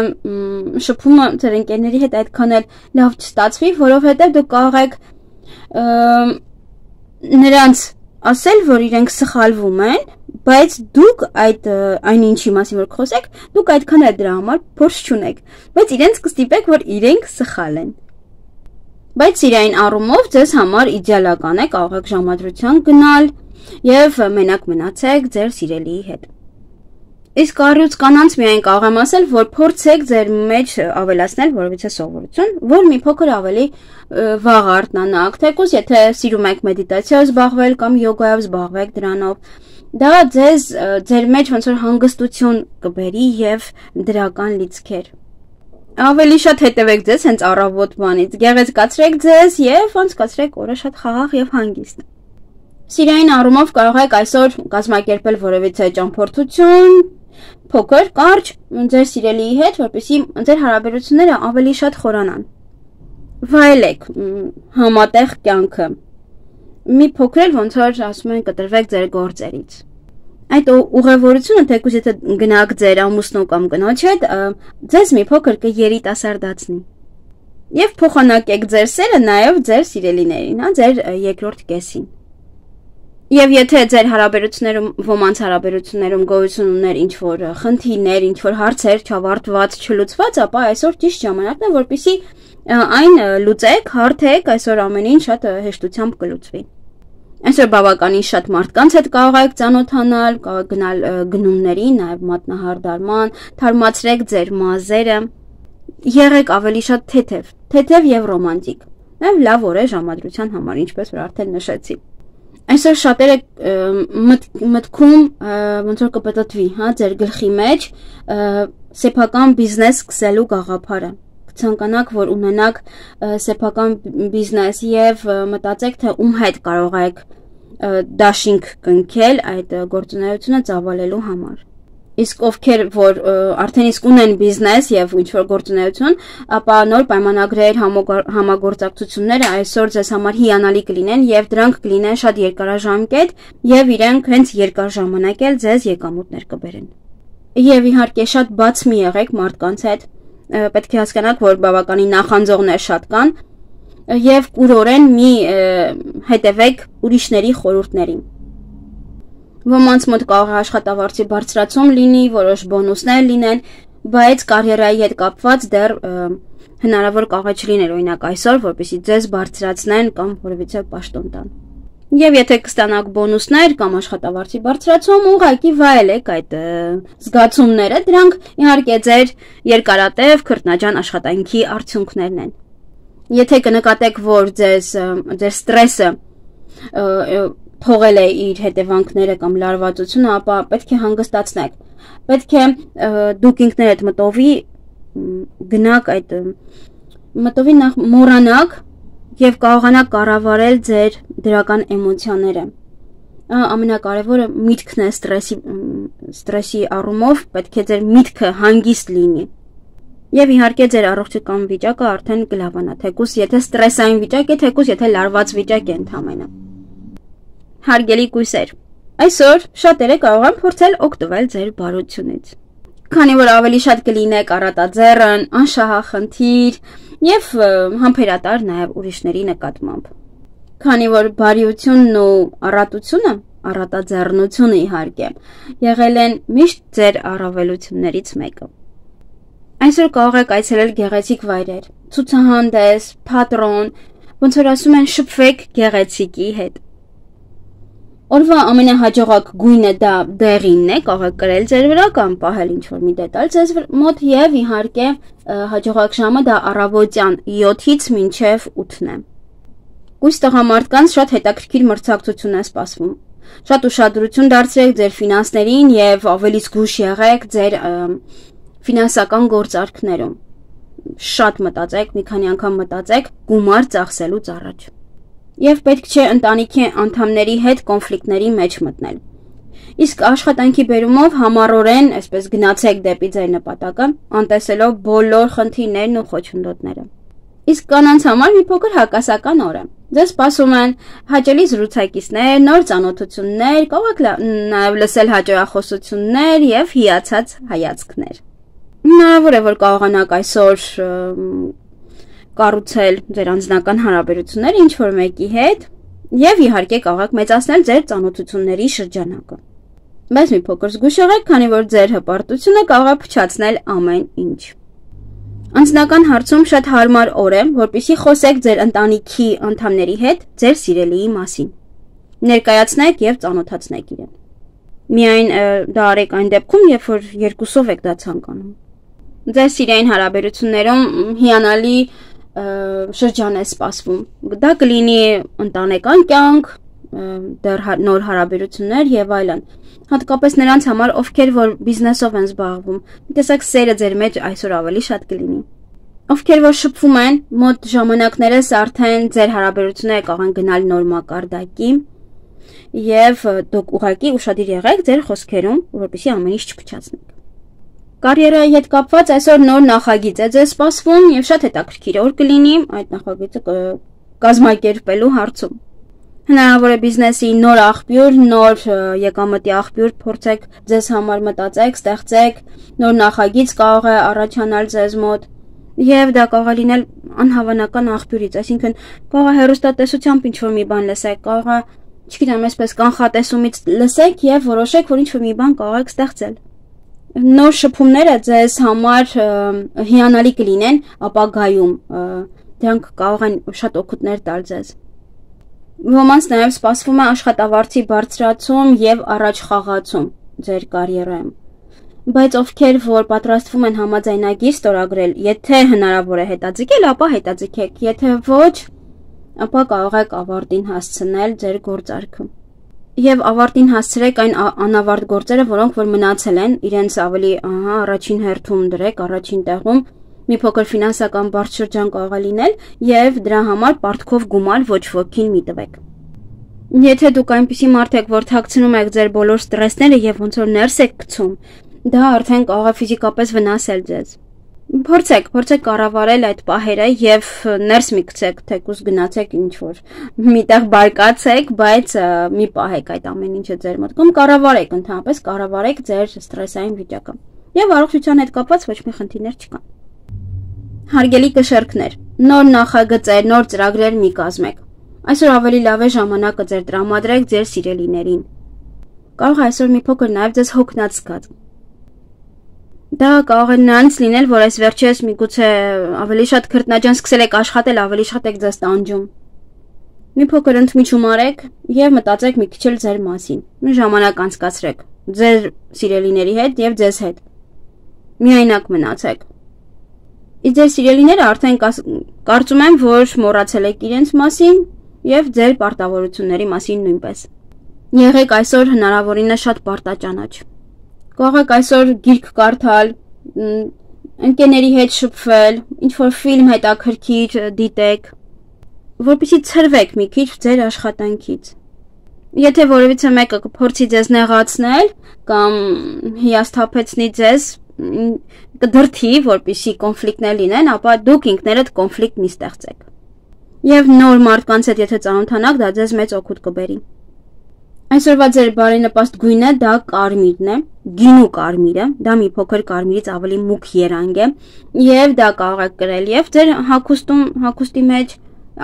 Speaker 1: շփումը ձեր ընկերների հետ այդքան էլ լավ չստացվի, որովհետև դուք կարող եք նրանց ասել, որ իրենք սխալվում են, բայց դուք այն ինչի մասին որ խոսեք, դուք այդքան էլ դրա համար փորձ չունեք, բայց իրենց կստիպեք, որ իրենք սխալ են։ Բայց իրային առումով ձեզ համար իդեալական է, կարող եք ժամադրության գնալ եւ մենակ մնացեք ձեր սիրելիի հետ։ Իսկ առյուծ կանանց միայն կարող եմ ասել, որ փորձեք ձեր մեջ ավելացնել որևիցե սովորություն, որ մի փոքր ավելի վաղ արթնանաք, թեկուզ եթե սիրում եք մեդիտացիայով զբաղվել կամ յոգայով զբաղվեք դրանով, դա ձեզ ձեր մեջ ոնց որ հանգստություն կբերի եւ դրական լիցքեր։ Ավելի շատ հետևեք ձեզ հենց առավոտ բանից, գեղեցկացրեք ձեզ եւ անցկացրեք օրը շատ խաղաղ եւ հանգիստ։ Սիրային առումով կարող եք այսօր կազմակերպել որևիցե ճամփորդություն, փոքր, կարճ ձեր սիրելիի հետ, որպեսզի ձեր հարաբերությունները ավելի շատ խորանան։ Վայելեք համատեղ կյանքը։ Մի փոքր էլ ոնց որ ասում են կտրվեք ձեր գործերից։ Այդ ուղևորությունը թեկուզ եթե գնաք ձեր ամուսնու կամ կնոջ հետ, ձեզ մի փոքր կերիտասարդացնի։ Եվ փոխանակեք ձեր սերը նաև ձեր սիրելիներին, ձեր երկրորդ կեսին։ Եվ եթե ձեր հարաբերություններում, ոմանց հարաբերություններում գոյություն ուներ ինչ-որ խնդիրներ, ինչ-որ հարցեր չավարտված, չլուծված, ապա այսօր ճիշտ ժամանակն է, որպեսզի այն լուծեք, հարթեք, այսօր ամեն ինչ շատ հեշտությամբ կլուծվի։ Այսօր բավականին շատ մարդկանց հետ կարող եք ծանոթանալ, կարող եք գնալ գնումների, նաև մատնահարդարման, թարմացրեք ձեր մազերը, եղեք ավելի շատ թեթև եւ ռոմանտիկ։ Նաև լավ օր է ժամադրության համար, ինչպես որ արդեն նշեցի։ Այսօր շատերը մտքում ոնց որ կպտտվի, ձեր գլխի մեջ սեփական բիզնես սկսելու գաղափարը։ Կցանկանաք, որ ունենաք սեփական բիզնես եւ մտածեք, թե ում հետ կարող եք դաշինք կնքել այդ գործունեությունը ծավալելու համար։ Իսկ ովքեր որ արդեն իսկ ունեն բիզնես եւ ինչ-որ գործունեություն, ապա նոր պայմանագրեր, համագործակցությունները այսօր ձեզ համար հիանալի կլինեն եւ դրանք կլինեն շատ երկարաժամկետ եւ իրենք հենց երկար ժամանակ էլ ձեզ եկամուտներ կբերեն։ Եվ իհարկե շատ բաց մի եղեք մարդկանց հետ, պետք է հասկանաք, որ բավականին նախանձողներ շատ կան եւ կուրորեն մի հետևեք ուրիշների խորհուրդներին։ Ոմանց մոտ կարող է աշխատավարձի բարձրացում լինի, որոշ բոնուսներ լինեն, բայց կարիերայի հետ կապված դեռ հնարավոր կարող է չլիներ օրինակ այսօր, որպեսզի ձեզ բարձրացնեն կամ որևիցե պաշտոն տան։ Եվ եթե կստանաք բոնուսներ կամ աշխատավարձի բարձրացում, ուղղակի վայելեք այդ զգացումները, դրանք իհարկե ձեր երկարատև քրտնաջան աշխատանքի արդյունքներն են։ Եթե կնկատեք, որ ձեր ստրեսը թողել է իր հետևանքները կամ լարվածությունը, ապա պետք է հանգստացնեք։ Պետք է դուք ինքներդ մտովի նախ մոռանաք եւ կարողանաք կառավարել ձեր դրական էմոցիաները։ Ամենակարևորը միտքն է ստրեսի առումով, պետք է ձեր միտքը հանգիստ լինի։ Եվ իհարկե ձեր առողջական վիճակը արդեն կլավանա, թեկուզ եթե ստրեսային վիճակ է, թեկուզ եթե լարված վիճակ է ընդհանրապես։ Հարգելի կույսեր, այսօր շատերը կարող են փորձել օգտվել ձեր բարությունից։ Քանի որ ավելի շատ կլինեք առատաձեռն, անշահախնդիր եւ համբերատար նաեւ ուրիշների նկատմամբ։ Քանի որ բարիությունն ու առատությունը, առատաձեռնությունը իհարկե, եղել են միշտ ձեր առավելություններից մեկը։ Այսօր կարող եք այցելել գեղեցիկ վայրեր, ցուցահանդես, թատրոն, ոնց որ ասում են շփվեք գեղեցիկի հետ։ Օրվա ամենահաջողակ գույնը դա դեղինն է, կարող եք կրել ձեր վրա կամ պահել ինչ-որ մի դետալ ձեզ մոտ եւ իհարկե հաջողակ ժամը դա առավոտյան 7-ից մինչեւ 8-ն է։ Կույս տղամարդկանց շատ հետաքրքիր մրցակցություն է սպասվում։ Շատ ուշադրություն դարձրեք ձեր ֆինանսներին եւ ավելի զգույշ եղեք ձեր ֆինանսական գործարքներում։ շատ մտածեք, մի քանի անգամ մտածեք գումար ծախսելուց առաջ։ Եվ պետք չէ ընտանիքի անդամների հետ կոնֆլիկտների մեջ մտնել։ Իսկ աշխատանքի բերումով համառորեն, այսպես գնացեք դեպի ձեր նպատակը, անտեսելով բոլոր խնդիրներն ու խոչընդոտները։ Իսկ կանանց համար մի փոքր հակասական օր է։ Ձեզ սպասում են հաճելի զրուցակիցներ, նոր ծանոթություններ, կարող եք նաև լսել հաճախոսություններ եւ հիացած հայացքներ։ Հնարավոր է, որ կարողանաք այսօր կառուցել ձեր անձնական հարաբերությունները ինչ-որ մեկի հետ եւ իհարկե կարող եք մեծացնել ձեր ծանոթությունների շրջանակը։ Բայց մի փոքր զգույշ եղեք, քանի որ ձեր հպարտությունը կարող է փչացնել ամեն ինչ։ Անձնական հարցում շատ հարմար օր է, որպեսզի խոսեք ձեր ընտանիքի անդամների հետ ձեր սիրելիի մասին։ Ներկայացնեք եւ ծանոթացնեք իրեն։ Միայն դա արեք այն դեպքում, երբ որ երկուսով եք դա ցանկանում։ Ձեր սիրային հարաբերություններում հիանալի շրջան է սպասվում։ Դա կլինի ընտանեկան կյանք, դեռ նոր հարաբերություններ եւ այլն։ Հատկապես նրանց համար, ովքեր որ բիզնեսով են զբաղվում, տեսեք սերը ձեր մեջ այսօր ավելի շատ կլինի։ Ովքեր որ շփվում են, մոտ ժամանակներս արդեն ձեր հարաբերությունները կարող են գնալ նոր մակարդակի եւ դուք ուղղակի ուշադիր եղեք ձեր խոսքերում, որպեսզի ամեն ինչ չփչացնեք։ Կարիերայի հետ կապված այսօր նոր նախագիծ է ձեզ սպասվում եւ շատ հետաքրքիր օր կլինի այդ նախագիծը կազմակերպելու հարցում։ Հնարավոր է բիզնեսի նոր աղբյուր, նոր եկամտի աղբյուր փորձեք ձեզ համար մտածեք, ստեղծեք, նոր նախագիծ կարող է առաջանալ ձեզ մոտ եւ դա կարող է լինել անհավանական աղբյուրից, այսինքն կարող է հեռուստատեսությամբ ինչ-որ մի բան լսեք, կարող է, չգիտեմ, այսպես կանխատեսումից լսեք եւ որոշեք, որ ինչ-որ մի բան կարող եք ստեղծել։ Նոր շփումները ձեզ համար հիանալի կլինեն ապագայում, դրանք կարող են շատ օգուտներ տալ ձեզ։ Ոմանց նաև սպասվում է աշխատավարձի բարձրացում եւ առաջ խաղացում ձեր կարիերայում։ Բայց ովքեր որ պատրաստվում են համաձայնագիր ստորագրել, եթե հնարավոր է հետաձգել, ապա հետաձգեք, եթե ոչ, ապա կարող եք ավարտին հասցնել ձեր գործարքը։ Եվ ավարտին հասցրեք այն անավարտ գործերը, որոնք որ մնացել են, իրենց ավելի առաջին հերթում դրեք, առաջին տեղում մի փոքր ֆինանսական բարդ շրջան կարող է լինել եւ դրա համար պարտքով գումար ոչ ոքին մի տվեք։ Եթե դուք այնպիսի մարդ եք, որ թաքցնում եք ձեր բոլոր ստրեսները եւ ոնց որ ներս եք գցում, դա արդեն կարող է ֆիզիկապես վնասել ձեզ։ Փորձեք կառավարել այդ պահերը եւ ներս մի գցեք, թեկուզ գնացեք ինչ որ միտեղ բարկացեք, բայց մի պահեք այդ ամեն ինչը ձեր մտքում, կառավարեք ընդհանրապես, կառավարեք ձեր ստրեսային վիճակը։ Եվ առողջության հետ կապված ոչ մի խնդիրներ չկան։ Հարգելի կշեռքներ, նոր նախագծեր, նոր ծրագրեր մի կազմեք։ Այսօր ավելի լավ է ժամանակը ձեր տրամադրեք ձեր սիրելիներին։ Կարող է այսօր մի փոքր նաև ձեզ հոգնած զգաց։ Դա կարող է նրանից լինել, որ այս վերջերս միգուցե ավելի շատ քրտնաջան սկսել եք աշխատել, ավելի շատ եք ձեզ տանջում։ Մի փոքր ընդմիջում արեք եւ մտածեք մի քիչ էլ ձեր մասին։ Մի ժամանակ անցկացրեք ձեր սիրելիների հետ եւ ձեզ հետ։ Միայնակ մնացեք։ Ձեր սիրելիները արդեն կարծում եմ, որ մոռացել եք իրենց մասին եւ ձեր պարտավորությունների մասին նույնպես։ Եղեք այսօր հնարավորինս շատ պարտաճանաչ։ Կարող եք այսօր գիրք կարդալ, ընկերների հետ շփվել, ինչ-որ ֆիլմ հետաքրքիր դիտեք, որպեսզի ցրվեք մի քիչ ձեր աշխատանքից։ Եթե որևիցե մեկը կփորձի ձեզ նեղացնել կամ հիասթափեցնի ձեզ, կդրթի, որպեսզի կոնֆլիկտներ լինեն, ապա դուք ինքներդ կոնֆլիկտ մի ստեղծեք։ Եվ նոր մարդկանց հետ եթե ծանոթանաք, դա ձեզ մեծ օգուտ կբերի։ Այսօրվա ձեր բարենպաստ գույնը դա կարմիրն է, գինու կարմիրը, դա մի փոքր կարմիրից ավելի մուգ երանգ է, եւ դա կարող եք կրել եւ ձեր հագուստի մեջ,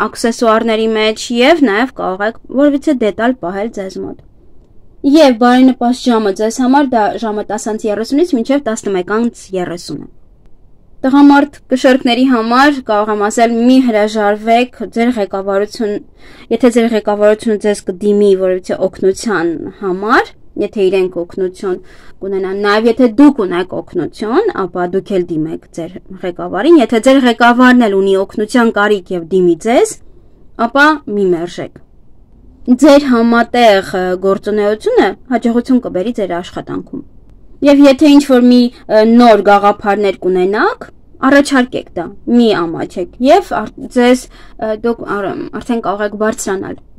Speaker 1: աքսեսուարների մեջ եւ նաեւ կարող եք որևիցե դետալ պահել ձեզ մոտ։ Եվ բարենպաստ ժամը ձեզ համար դա ժամը 10:30-ից մինչև 11:30 է։ Տղամարդ կշեռքների համար կարող եմ ասել մի հրաժարվեք ձեր ղեկավարություն, եթե ձեր ղեկավարությունը ձեզ կդիմի որևիցե օգնության համար, եթե իրենք օգնություն կունենան, նաև եթե դուք ունեք օգնություն, ապա դուք էլ դիմեք ձեր ղեկավարին, եթե ձեր ղեկավարն էլ ունի օգնության կարիք եւ դիմի ձեզ, ապա մի մերժեք։ Ձեր համատեղ գործունեությունը հաջողություն կբերի ձեր աշխատանքում։ Եվ եթե ինչ-որ մի նոր գաղափարներ կունենաք, Առաջարկեք դա, մի ամաչեք եւ ձեզ դուք արդեն կարող եք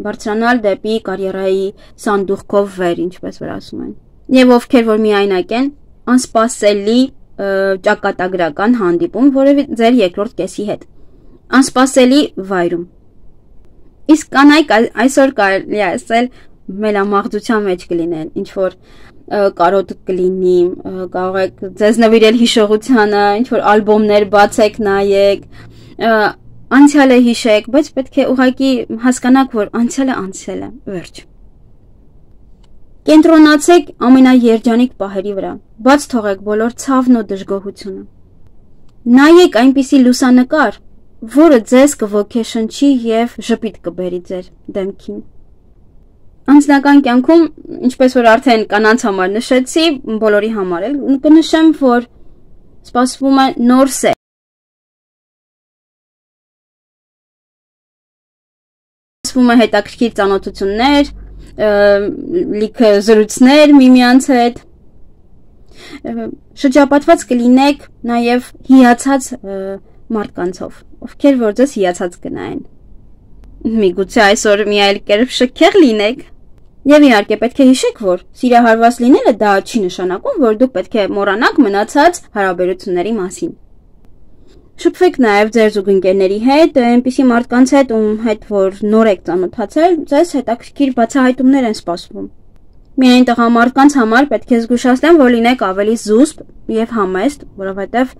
Speaker 1: բարձրանալ դեպի կարիերայի սանդուղքով վեր, ինչպես որ ասում են։ Եվ ովքեր որ միայնակ են, անսպասելի ճակատագրական հանդիպում որևէ ձեր երկրորդ կեսի հետ։ Անսպասելի վայրում։ Իսկ կանայք այսօր կարելի է ասել մելամաղձության մեջ կլինեն, ինչ որ կարոտ կլինի, կարող եք ձեզ նվիրել հիշողությանը, ինչ որ ալբոմներ բացեք, նայեք, անցյալը հիշեք, բայց պետք է ուղղակի հասկանաք, որ անցյալը, վերջ։ Կենտրոնացեք ամենաերջանիկ պահերի վրա, բաց թողեք բոլոր ցավն ու դժգոհությունը։ Նայեք այնպիսի լուսանկար, որը ձեզ կոգեշնչի եւ ժպիտ կբերի ձեր դեմքին։ Անձնական կյանքում, ինչպես որ արդեն կանանց համար նշեցի, բոլորի համար էլ կնշեմ, որ սպասվում է նոր սեր։ Սպասվում է հետաքրքիր ծանոթություններ, լիքը զրույցներ միմյանց հետ։ Շրջապատված կլինեք նաև հիացած մարդկանցով, ովքեր որ ձեզ հիացած կնայեն։ Միգուցե այսօր մի այլ կերպ շքեղ լինեք։ Եվ իհարկե պետք է հիշեք, որ սիրահարված լինելը դա չի նշանակում, որ դուք պետք է մոռանաք մնացած հարաբերությունների մասին։ Շփվեք նաև ձեր զուգընկերների հետ, այնպիսի մարդկանց հետ, ում հետ որ նոր եք ծանոթացել, ձեզ հետաքրքիր բացահայտումներ են սպասվում։ Միայն տղամարդկանց համար պետք է զգուշացնեմ, որ լինեք ավելի զուսպ եւ համեստ, որովհետեւ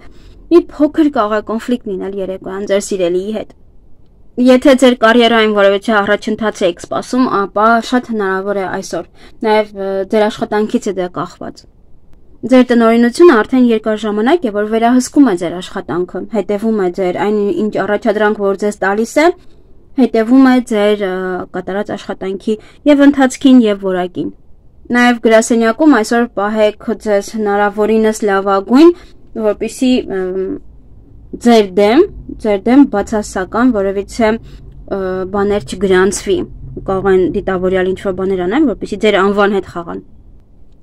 Speaker 1: մի փոքր կարող է կոնֆլիկտ լինել երեկոյան ձեր սիրելիի հետ։ Եթե ձեր կարիերային որևէ առաջընթաց եք սպասում, ապա շատ հնարավոր է այսօր, նաև ձեր աշխատանքից է դա կախված։ Ձեր տնօրինությունը արդեն երկար ժամանակ է, որ վերահսկում է ձեր աշխատանքը, հետևում է ձեր այն ինչ առաջադրանք, որ ձեզ տալիս է, հետևում է ձեր կատարած աշխատանքի եւ ընթացքին եւ որակին։ Նաև գրասենյակում այսօր պահեք ձեզ հնարավորինս լավագույն, որպեսզի ձեր դեմ բացասական որևիցե բաներ չգրանցվի, կարող են դիտավորյալ ինչ-որ բաներ անեն, որպեսզի ձեր անվան հետ խաղան։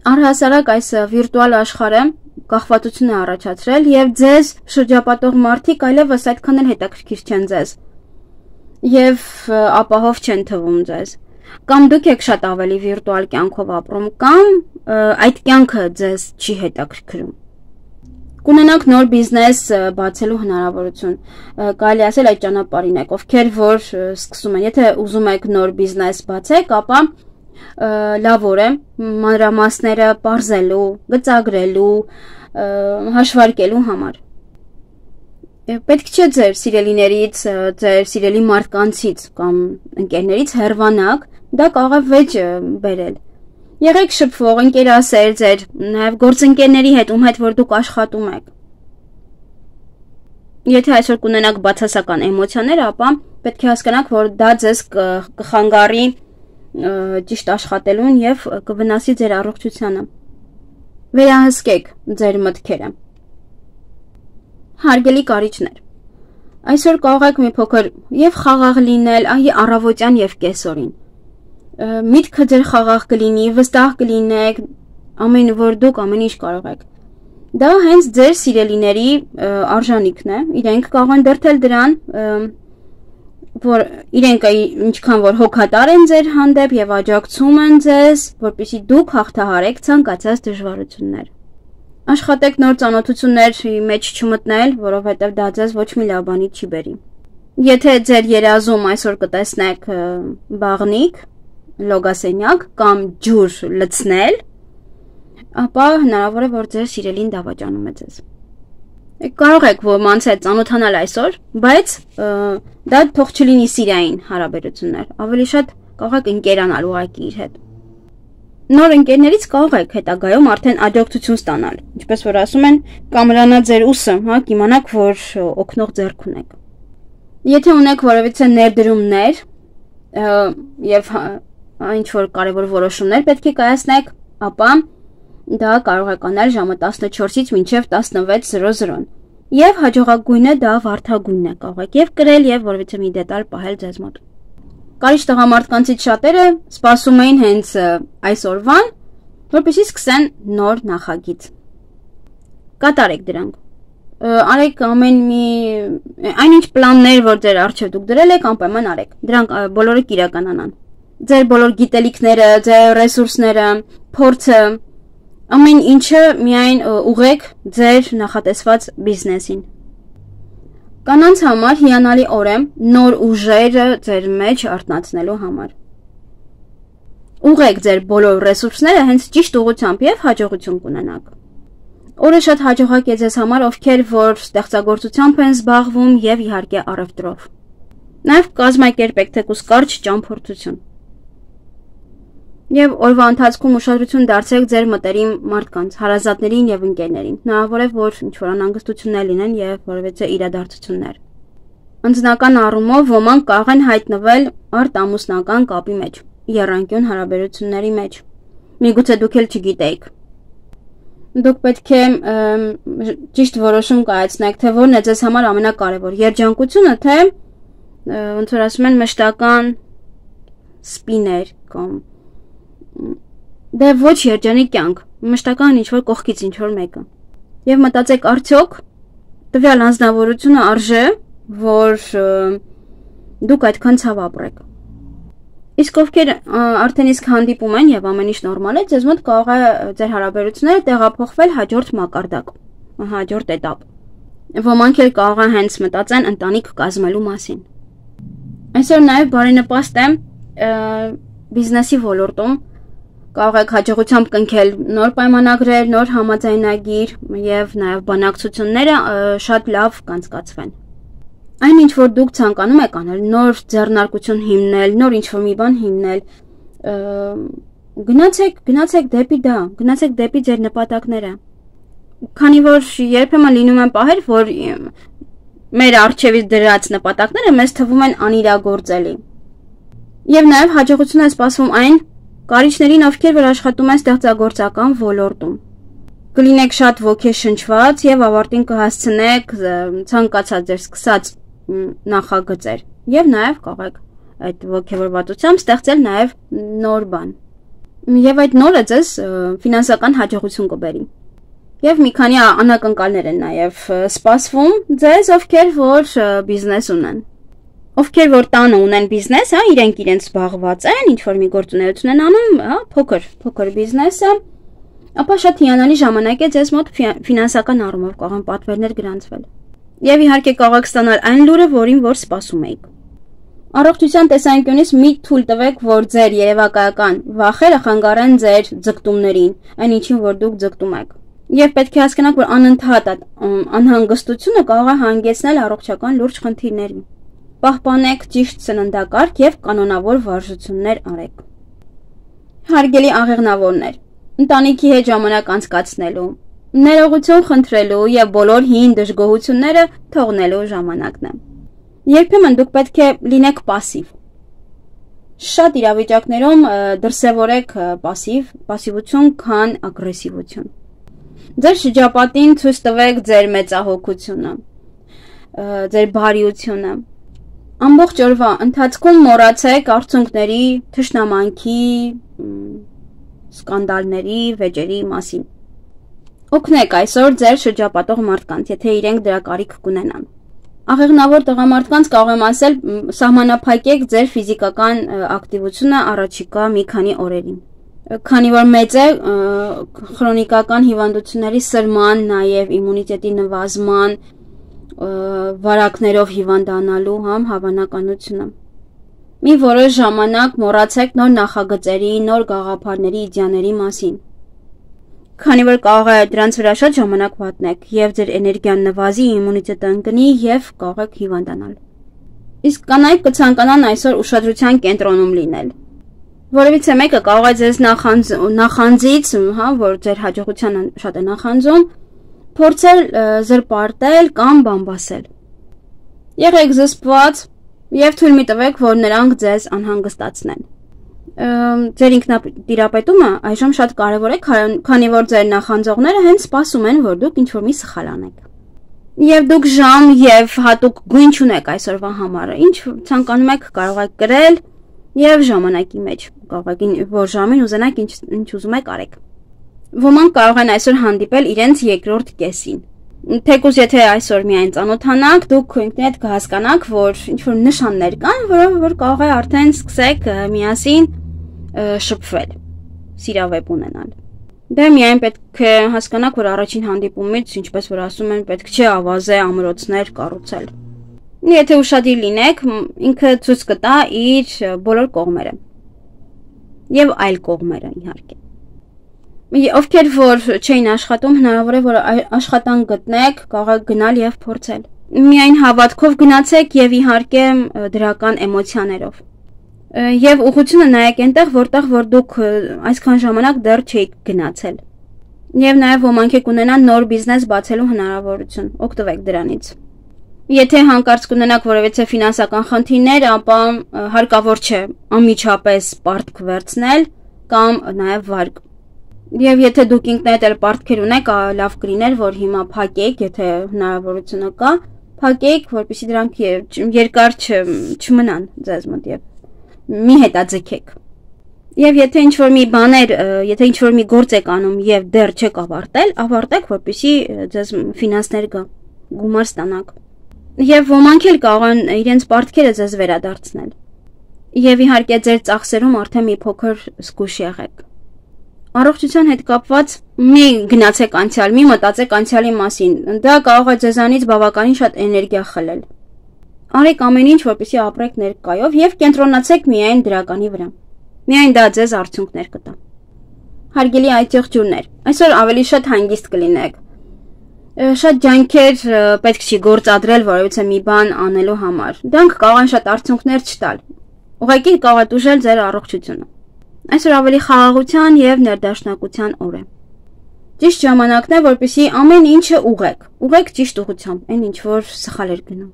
Speaker 1: Առհասարակ այս վիրտուալ աշխարհը կախվածություն է առաջացրել եւ ձեզ շրջապատող մարդիկ այլևս այդքան էլ հետաքրքիր չեն ձեզ եւ ապահով չեն թվում ձեզ։ Կամ դուք եք շատ ավելի վիրտուալ կյանքով ապրում, կամ այդ կյանքը ձեզ չի հետաքրքրում։ Կունենաք նոր բիզնես բացելու հնարավորություն, կարելի ասել այդ ճանապարհին եք, ովքեր որ սկսում են, եթե ուզում եք նոր բիզնես բացեք, ապա լավ է մանրամասները պարզելու, գծագրելու, հաշվարկելու համար։ Պետք չէ ձեր սիրելիներից, ձեր սիրելի մարդկանցից կամ ընկերներից հեռվանաք, դա կարող է վեճ բերել։ Եղեք շփվող, ընկերասեր ձեր, նաև գործընկերների հետ, ում հետ որ դուք աշխատում եք։ Եթե այսօր կունենաք բացասական էմոցիաներ, ապա պետք է հասկանաք, որ դա ձեզ կխանգարի ճիշտ աշխատելուն եւ կվնասի ձեր առողջությանը։ Վերահսկեք ձեր մտքերը։ Հարգելի կարիճներ, այսօր կարող եք մի փոքր եւ խաղաղ լինել, առավոտյան եւ կեսօրին։ Միտքը ձեր խաղաղ կլինի, վստահ կլինեք, ամեն որ դուք ամեն ինչ կարող եք։ Դա հենց ձեր սիրելիների արժանիքն է, իրենք կարող են դրդել դրան, որ իրենք ինչքան որ հոգատար են ձեր հանդեպ եւ աջակցում են ձեզ, որպեսզի դուք հաղթահարեք ցանկացած դժվարություններ։ Աշխատեք նոր ծանոթությունների մեջ չմտնել, որովհետեւ դա ձեզ ոչ մի լավ բանի չի բերի։ Եթե ձեր երազում այսօր կտեսնեք բաղնիկ, լոգասենյակ կամ ջուր լցնել, ապա հնարավոր է որ ձեր սիրելին դավաճանում է ձեզ։ Կարող եք ոմանց հետ ծանոթանալ այսօր, բայց դա թող չլինի սիրային հարաբերություններ, ավելի շատ կարող եք ընկերանալ ուղղակի իր հետ։ Նոր ընկերներից կարող եք հետագայում արդեն աջակցություն ստանալ, ինչպես որ ասում են, կամրանա ձեր ուսը, կիմանաք, որ օգնող ձեռք ունեք։ Եթե ունեք որևիցե ներդրումներ եւ ինչ որ կարևոր որոշումներ պետք է կայացնեք, ապա դա կարող եք անել ժամը 14-ից մինչև 16:00 եւ հաջողակույնը դա վարդագույնն է, կարող եք եւ կրել եւ որևիցե մի դետալ պահել ձեզ մոտ։ Կարիճ տղամարդկանցից շատերը սպասում էին հենց այսօրվան, որպեսզի սկսեն նոր նախագիծ։ Կատարեք դրանք։ Արեք այնինչ պլաններ, որ ձեր առջև դուք դրել եք, անպայման արեք։ Դրանք բոլորը կիրականանան։ Ձեր բոլոր գիտելիքները, ձեր ռեսուրսները, փորձը, ամեն ինչը միայն ուղեք ձեր նախատեսված բիզնեսին։ Կանանց համար հիանալի օր է նոր ուժերը ձեր մեջ արթնացնելու համար։ Ուղեք ձեր բոլոր ռեսուրսները հենց ճիշտ ուղղությամբ եւ հաջողություն կունենաք։ Օրը շատ հաջողակ է ձեզ համար, ովքեր որ ստեղծագործությամբ են զբաղվում եւ իհարկե առևտրով։ Նաեւ կազմակերպեք թեկուզ կարճ ճամփորդություն։ Եվ օրվա ընթացքում ուշադրություն դարձրեք ձեր մտերիմ մարդկանց, հարազատներին եւ ընկերներին։ Հնարավոր է, որ ինչ-որ անհանգստություններ լինեն եւ որևէ իրադարձություններ։ Անձնական առումով ոմանք կարող են հայտնվել արտամուսնական կապի մեջ, եռանկյուն հարաբերությունների մեջ։ Միգուցե դուք էլ չգիտեիք։ Դուք պետք է ճիշտ որոշում կայացնեք, թե որն է ձեզ համար ամենակարևոր, երջանկությունը, թե ոնց որ ասում են մշտական սպիներ կամ դե ոչ երջանիկ կյանք, մշտական ինչ-որ կողքից ինչ-որ մեկը։ Եվ մտածեք, արդյոք տվյալ անձնավորությունը արժե, որ դուք այդքան ցավ ապրեք։ Իսկ ովքեր արդեն իսկ հանդիպում են եւ ամեն ինչ նորմալ է, ձեզ մոտ կարող է ձեր հարաբերությունները տեղափոխվել հաջորդ մակարդակ, հաջորդ этап։ Ոմանք էլ կարող են հենց մտածեն ընտանիք կազմելու մասին։ Այսօր նաեւ բարենպաստ է բիզնեսի ոլորտում կարող եք հաջողությամբ կնքել նոր պայմանագրեր, նոր համաձայնագիր եւ նաեւ բանակցությունները շատ լավ կանցկացվեն։ Այն ինչ որ դուք ցանկանում եք անել, նոր ձեռնարկություն հիմնել, նոր ինչ-որ մի բան հիմնել, գնացեք դեպի դա, գնացեք դեպի ձեր նպատակները։ Քանի որ երբեմն լինում են պահեր, որ մեր առջևից դրած նպատակները մեզ թվում են անիրագործելի։ Եվ նաև հաջողություն է սպասվում այն կարիչներին, ովքեր որ աշխատում են ստեղծագործական ոլորտում։ Կլինեք շատ ոգեշնչված եւ ավարտին կհասցնեք ցանկացած ձեր սկսած նախագծեր եւ նաեւ կարող եք այդ ոգևորվածությամբ ստեղծել նաեւ նոր բան եւ այդ նորը ձեզ ֆինանսական հաջողություն կբերի եւ մի քանի անակնկալներ են նաեւ սպասվում ձեզ, ովքեր որ բիզնես ունեն, ովքեր որ տանը ունեն բիզնես, իրենք իրենց զբաղված են, ինչ որ մի գործունեություն են անում, փոքր բիզնեսը, ապա շատ հիանալի ժամանակ է ձեզ մոտ ֆինանսական առումով կարող են պատվերներ գրանցվել։ Եվ իհարկե կարող եք ստանալ այն լուրը, որին որ սպասում եք։ Առողջության տեսանկյունից մի թույլ տվեք, որ ձեր երևակայական վախերը խանգարեն ձեր ձգտումներին, այն ինչին որ դուք ձգտում եք։ Եվ պետք է հասկանաք, որ անընդհատ անհանգստությունը կարող է հանգեցնել առողջական լուրջ խնդիրների։ Պահպանեք ճիշտ սննդակարգ եւ կանոնավոր վարժություններ արեք։ Հարգելի աղեղնավորներ, ընտանիքի հետ ժամանակ անցկացնելու, ներողություն խնդրելու եւ բոլոր հին դժգոհությունները թողնելու ժամանակն է։ Երբեմն դուք պետք է լինեք пассив։ Շատ իրավիճակներում դրսևորեք пассивություն, քան ագրեսիվություն։ Ձեր շրջապատին ցույց տվեք ձեր մեծահոգությունը, ձեր բարիությունը։ Ամբողջ օրվա ընթացքում մոռացեք արցունքների, թշնամանքի, սկանդալների, վեճերի մասին։ Օգնեք այսօր ձեր շրջապատող մարդկանց, եթե իրենք դրա կարիք կունենան։ Աղեղնավոր տղամարդկանց կարող եմ ասել, սահմանափակեք ձեր ֆիզիկական ակտիվությունը առաջիկա մի քանի օրերին։ Քանի որ մեծ է քրոնիկական հիվանդությունների սրման, նաև իմունիտետի նվազման, վարակներով հիվանդանալու հավանականությունը։ Մի որոշ ժամանակ մոռացեք նոր նախագծերի, նոր գաղափարների, իդեաների մասին։ Քանի որ կարող է դրանց վրա շատ ժամանակ վատնեք եւ ձեր էներգիան նվազի, իմունիտետը ընկնի եւ կարող եք հիվանդանալ։ Իսկ կանայք կցանկանան այսօր ուշադրության կենտրոնում լինել։ Որևիցե մեկը կարող է ձեզ նախանձից, որ ձեր հաջողության շատ է նախանձում, փորձել զրպարտել կամ բամբասել։ Եղեք զսպված եւ թույլ մի տվեք, որ նրանք ձեզ անհանգստացնեն։ Ձեր ինքնատիրապետումը այժմ շատ կարևոր է, քանի որ ձեր նախանձողները հենց սպասում են, որ դուք ինչ-որ մի սխալ անեք։ Եվ դուք ժամ եւ հատուկ գույն չունեք այսօրվա համար, ինչ ցանկանում եք կարող եք գրել եւ ժամանակի մեջ, կարող եք որ ժամին ուզենաք ինչ ուզում եք արեք։ Ոմանք կարող են այսօր հանդիպել իրենց երկրորդ կեսին։ Թեկուզ եթե այսօր միայն ծանոթանաք, դուք ինքներդ կհասկանաք, որ ինչ-որ նշաններ կան, որով որ կարող է արդեն սկսեք միասին շփվել, սիրավեպ ունենալ։ Դե միայն պետք է հասկանաք, որ առաջին հանդիպումից, ինչպես որ ասում են, պետք չէ ավազե ամրոցներ կառուցել։ Եթե ուշադիր լինեք, ինքը ցույց կտա իր բոլոր կողմերը։ Եվ այլ կողմերը, իհարկե։ Ովքեր որ չէին աշխատում, հնարավոր է որ աշխատանք գտնեք, կարող եք գնալ եւ փորձել։ Միայն հավատքով գնացեք եւ իհարկե դրական էմոցիաներով։ Եվ ուղղությունը նայեք այնտեղ, որտեղ որ դուք այսքան ժամանակ դեռ չէիք գնացել։ Եվ նաեւ ոմանք եք ունենան նոր բիզնես բացելու հնարավորություն, օգտվեք դրանից։ Եթե հանկարծ կունենաք որևէ ֆինանսական խնդիրներ, ապա հարկավոր չէ անմիջապես պարտք վերցնել կամ նաեւ վարկ։ Եվ եթե դուք ինքներդ էլ պարտքեր ունեք, լավ կլիներ, որ հիմա փակեք, եթե հնարավորությունը կա, փակեք, որպեսզի դրանք երկար չմնան ձեզ մոտ եւ մի հետաձգեք։ Եվ եթե ինչ-որ մի բաներ, եթե ինչ-որ մի գործ եք անում եւ դեռ չեք ավարտել, ավարտեք, որպեսզի ձեզ ֆինանսներ գա, գումար ստանաք։ Եվ ոմանք էլ կարող են իրենց պարտքերը ձեզ վերադարձնել։ Եվ իհարկե ձեր ծախսերում արդեն մի փոքր զգուշ եղեք։ Առողջության հետ կապված մի գնացեք անցյալ, մի մտածեք անցյալի մասին, դա կարող է ձեզանից բավականին շատ էներգիա խլել։ Արեք ամեն ինչ, որպեսզի ապրեք ներկայով եւ կենտրոնացեք միայն դրականի վրա։ Միայն դա ձեզ արդյունքներ կտա։ Հարգելի այցեղջուրներ, այսօր ավելի շատ հանգիստ կլինեք։ Շատ ջանքեր պետք չի գործադրել որևէ մի բան անելու համար։ Դրանք կարող են շատ արդյունքներ չտալ։ Ուղղակի կարող է տուժել ձեր առողջությունը։ Այսօր ավելի խաղաղության եւ ներդաշնակության օր է։ Ճիշտ ժամանակն է, որպեսզի ամեն ինչը ուղղեք ճիշտ ուղղությամբ, այն ինչ որ սխալ էր գնում։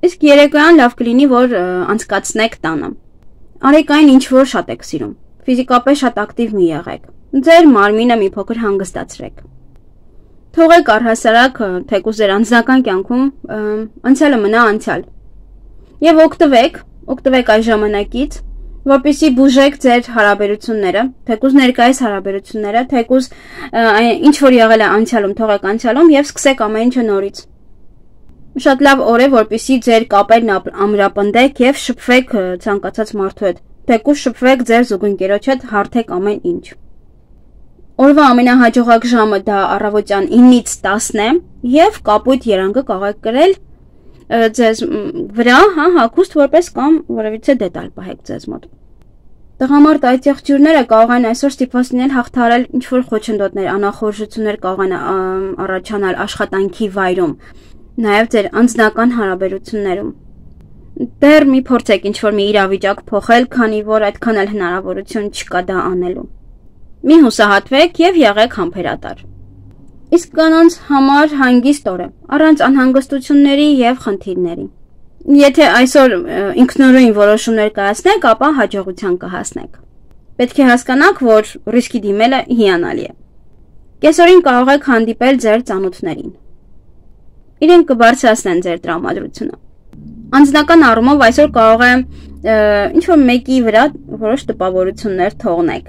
Speaker 1: Իսկ երեկոյան լավ կլինի, որ անցկացնեք տանը։ Արեք այն, ինչ որ շատ եք սիրում։ Ֆիզիկապես շատ ակտիվ մի եղեք։ Ձեր մարմինը մի փոքր հանգստացրեք։ Թողեք առհասարակ թեկուզ ձեր անձնական կյանքում անցյալը մնա անցյալ։ Եվ օգտվեք այս ժամանակից, որպեսզի բուժեք ձեր հարաբերությունները, թեկուզ ներկայիս հարաբերությունները, թեկուզ ինչ որ եղել է անցյալում, թողեք անցյալում եւ սկսեք ամեն ինչը նորից։ Շատ լավ օր է, որպեսզի ձեր կապերն ամրապնդեք եւ շփվեք ցանկացած մարդու հետ։ Թեկուզ շփվեք ձեր զուգընկերոջ հետ, հարթեք ամեն ինչ։ Օրվա ամենահաջողակ ժամը դա առավոտյան 9-ից 10 է եւ կապույտ երանգը կարող եք կրել ձեզ վրա, հագուստ որպես կամ որևիցե դետալ պահեք ձեզ մոտ։ Տղամարդ այցեղջյուրները կարող են այսօր ստիպված լինել հաղթահարել ինչ-որ խոչընդոտներ, անախորժություններ կարող են առաջանալ աշխատանքի վայրում, նաև ձեր անձնական հարաբերություններում։ Դեռ մի փորձեք ինչ-որ մի իրավիճակ փոխել, քանի որ այդքան էլ հնարավորություն չկա դա անելու։ Մի հուսահատվեք եւ եղեք համբերատար։ Իսկ կանանց համար հանգիստ օր է, առանց անհանգստությունների եւ խնդիրների։ Եթե այսօր ինքնուրույն որոշումներ կայացնեք, ապա հաջողության կհասնեք։ Պետք է հասկանաք, որ ռիսկի դիմելը հիանալի է։ Կեսօրին կարող եք հանդիպել ձեր ծանոթներին։ Իրենք կբարձրացնեն ձեր տրամադրությունը։ Անձնական առումով այսօր կարող է ինչ-որ մեկի վրա որոշ տպավորություններ թողնեք։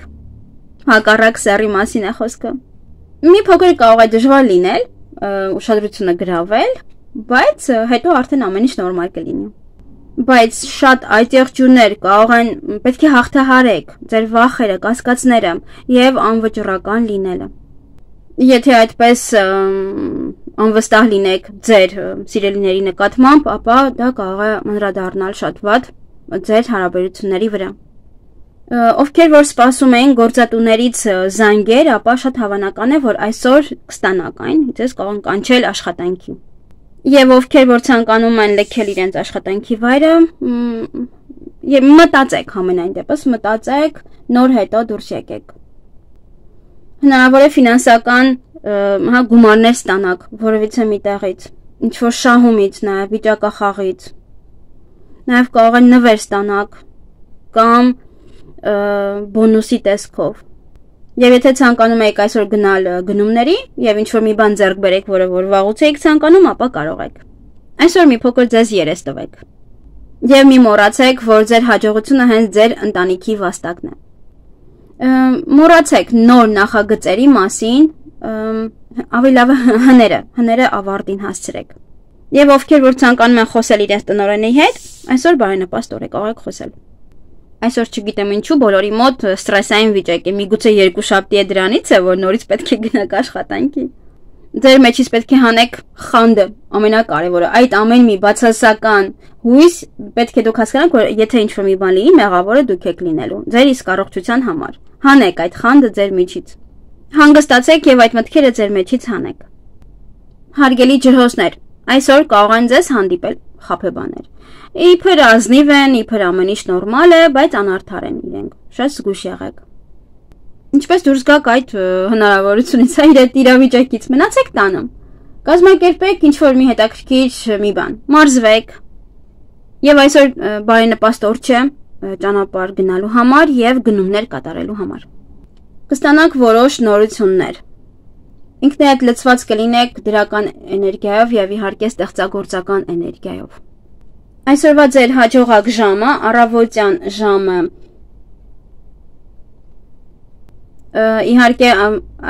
Speaker 1: Հակառակ սեռի մասին է խոսքը։ Մի փոքր կարող է դժվար լինել, ուշադրությունը գրավել, բայց հետո արդեն ամեն ինչ նորմալ կլինի։ Բայց շատ այցեղջյուրներ կարող են պետք է հաղթահարեք ձեր վախերը, կասկածները եւ անվճռական լինելը։ Եթե այդպես անվստահ լինեք ձեր սիրելիների նկատմամբ, ապա դա կարող է անդրադառնալ շատ վատ ձեր հարաբերությունների վրա։ Ովքեր որ սպասում էին գործատուներից զանգեր, ապա շատ հավանական է, որ այսօր կստանաք այն, ձեզ կարող են կանչել աշխատանքի։ Եվ ովքեր որ ցանկանում են լքել իրենց աշխատանքի վայրը, եւ մտածեք ամենայն դեպս, մտածեք, նոր հետո դուրս եկեք։ Հնարավոր է ֆինանսական գումարներ ստանաք որևիցե մի տեղից, ինչ որ շահումից, նաեւ վիճակախաղից։ Նաեւ կարող են նվեր ստանաք կամ բոնուսի տեսքով։ Եվ եթե ցանկանում եք այսօր գնալ գնումների եւ ինչ որ մի բան ձեռք բերեք, որը որ վաղուց եք ցանկանում, ապա կարող եք։ Այսօր մի փոքր ձեզ երես տվեք։ Եվ մի մոռացեք, որ ձեր հաջողությունը հենց ձեր ընտանիքի վաստակն է։ Մոռացեք նոր նախագծերի մասին, Ավելի լավ հները ավարտին հասցրեք։ Եվ ովքեր որ ցանկանում են խոսել իրենց տնօրենի հետ, այսօր բարենպաստ օր է, կարող եք խոսել։ Այսօր չգիտեմ ինչու բոլորի մոտ ստրեսային վիճակ է, միգուցե երկուշաբթի է դրանից է, որ նորից պետք է գնաք աշխատանքի։ Ձեր մեջից պետք է հանեք խանդը, ամենակարևորը, այդ ամեն մի բացասական հույս պետք է դուք հասկանաք, որ եթե ինչ-որ մի բան լինի, մեղավորը դուք եք լինելու, ձեր իսկ առողջության համար։ Հանեք այդ խանդը ձեր միջից։ Հանգստացեք եւ այդ մտքերը ձեր մեջից հանեք։ Հարգելի ջրհոսներ, այսօր կարող են ձեզ հանդիպել խաբեբաներ։ Իբր ազնիվ են, իբր ամեն ինչ նորմալ է, բայց անարդար են իրենք։ Շատ զգույշ եղեք։ Ինչպես դուրս գաք այդ հնարավորությունից, այդ իրավիճակից, մնացեք տանը։ Կազմակերպեք ինչ-որ մի հետաքրքիր մի բան, մարզվեք։ Եվ այսօր բարենպաստ օր չէ ճանապարհ գնալու համար եւ գնումներ կատարելու համար։ Կստանաք որոշ նորություններ։ Ինքներդ լցված կլինեք դրական էներգիայով եւ իհարկե ստեղծագործական էներգիայով։ Այսօրվա ձեր հաջողակ ժամը, առավոտյան ժամը, իհարկե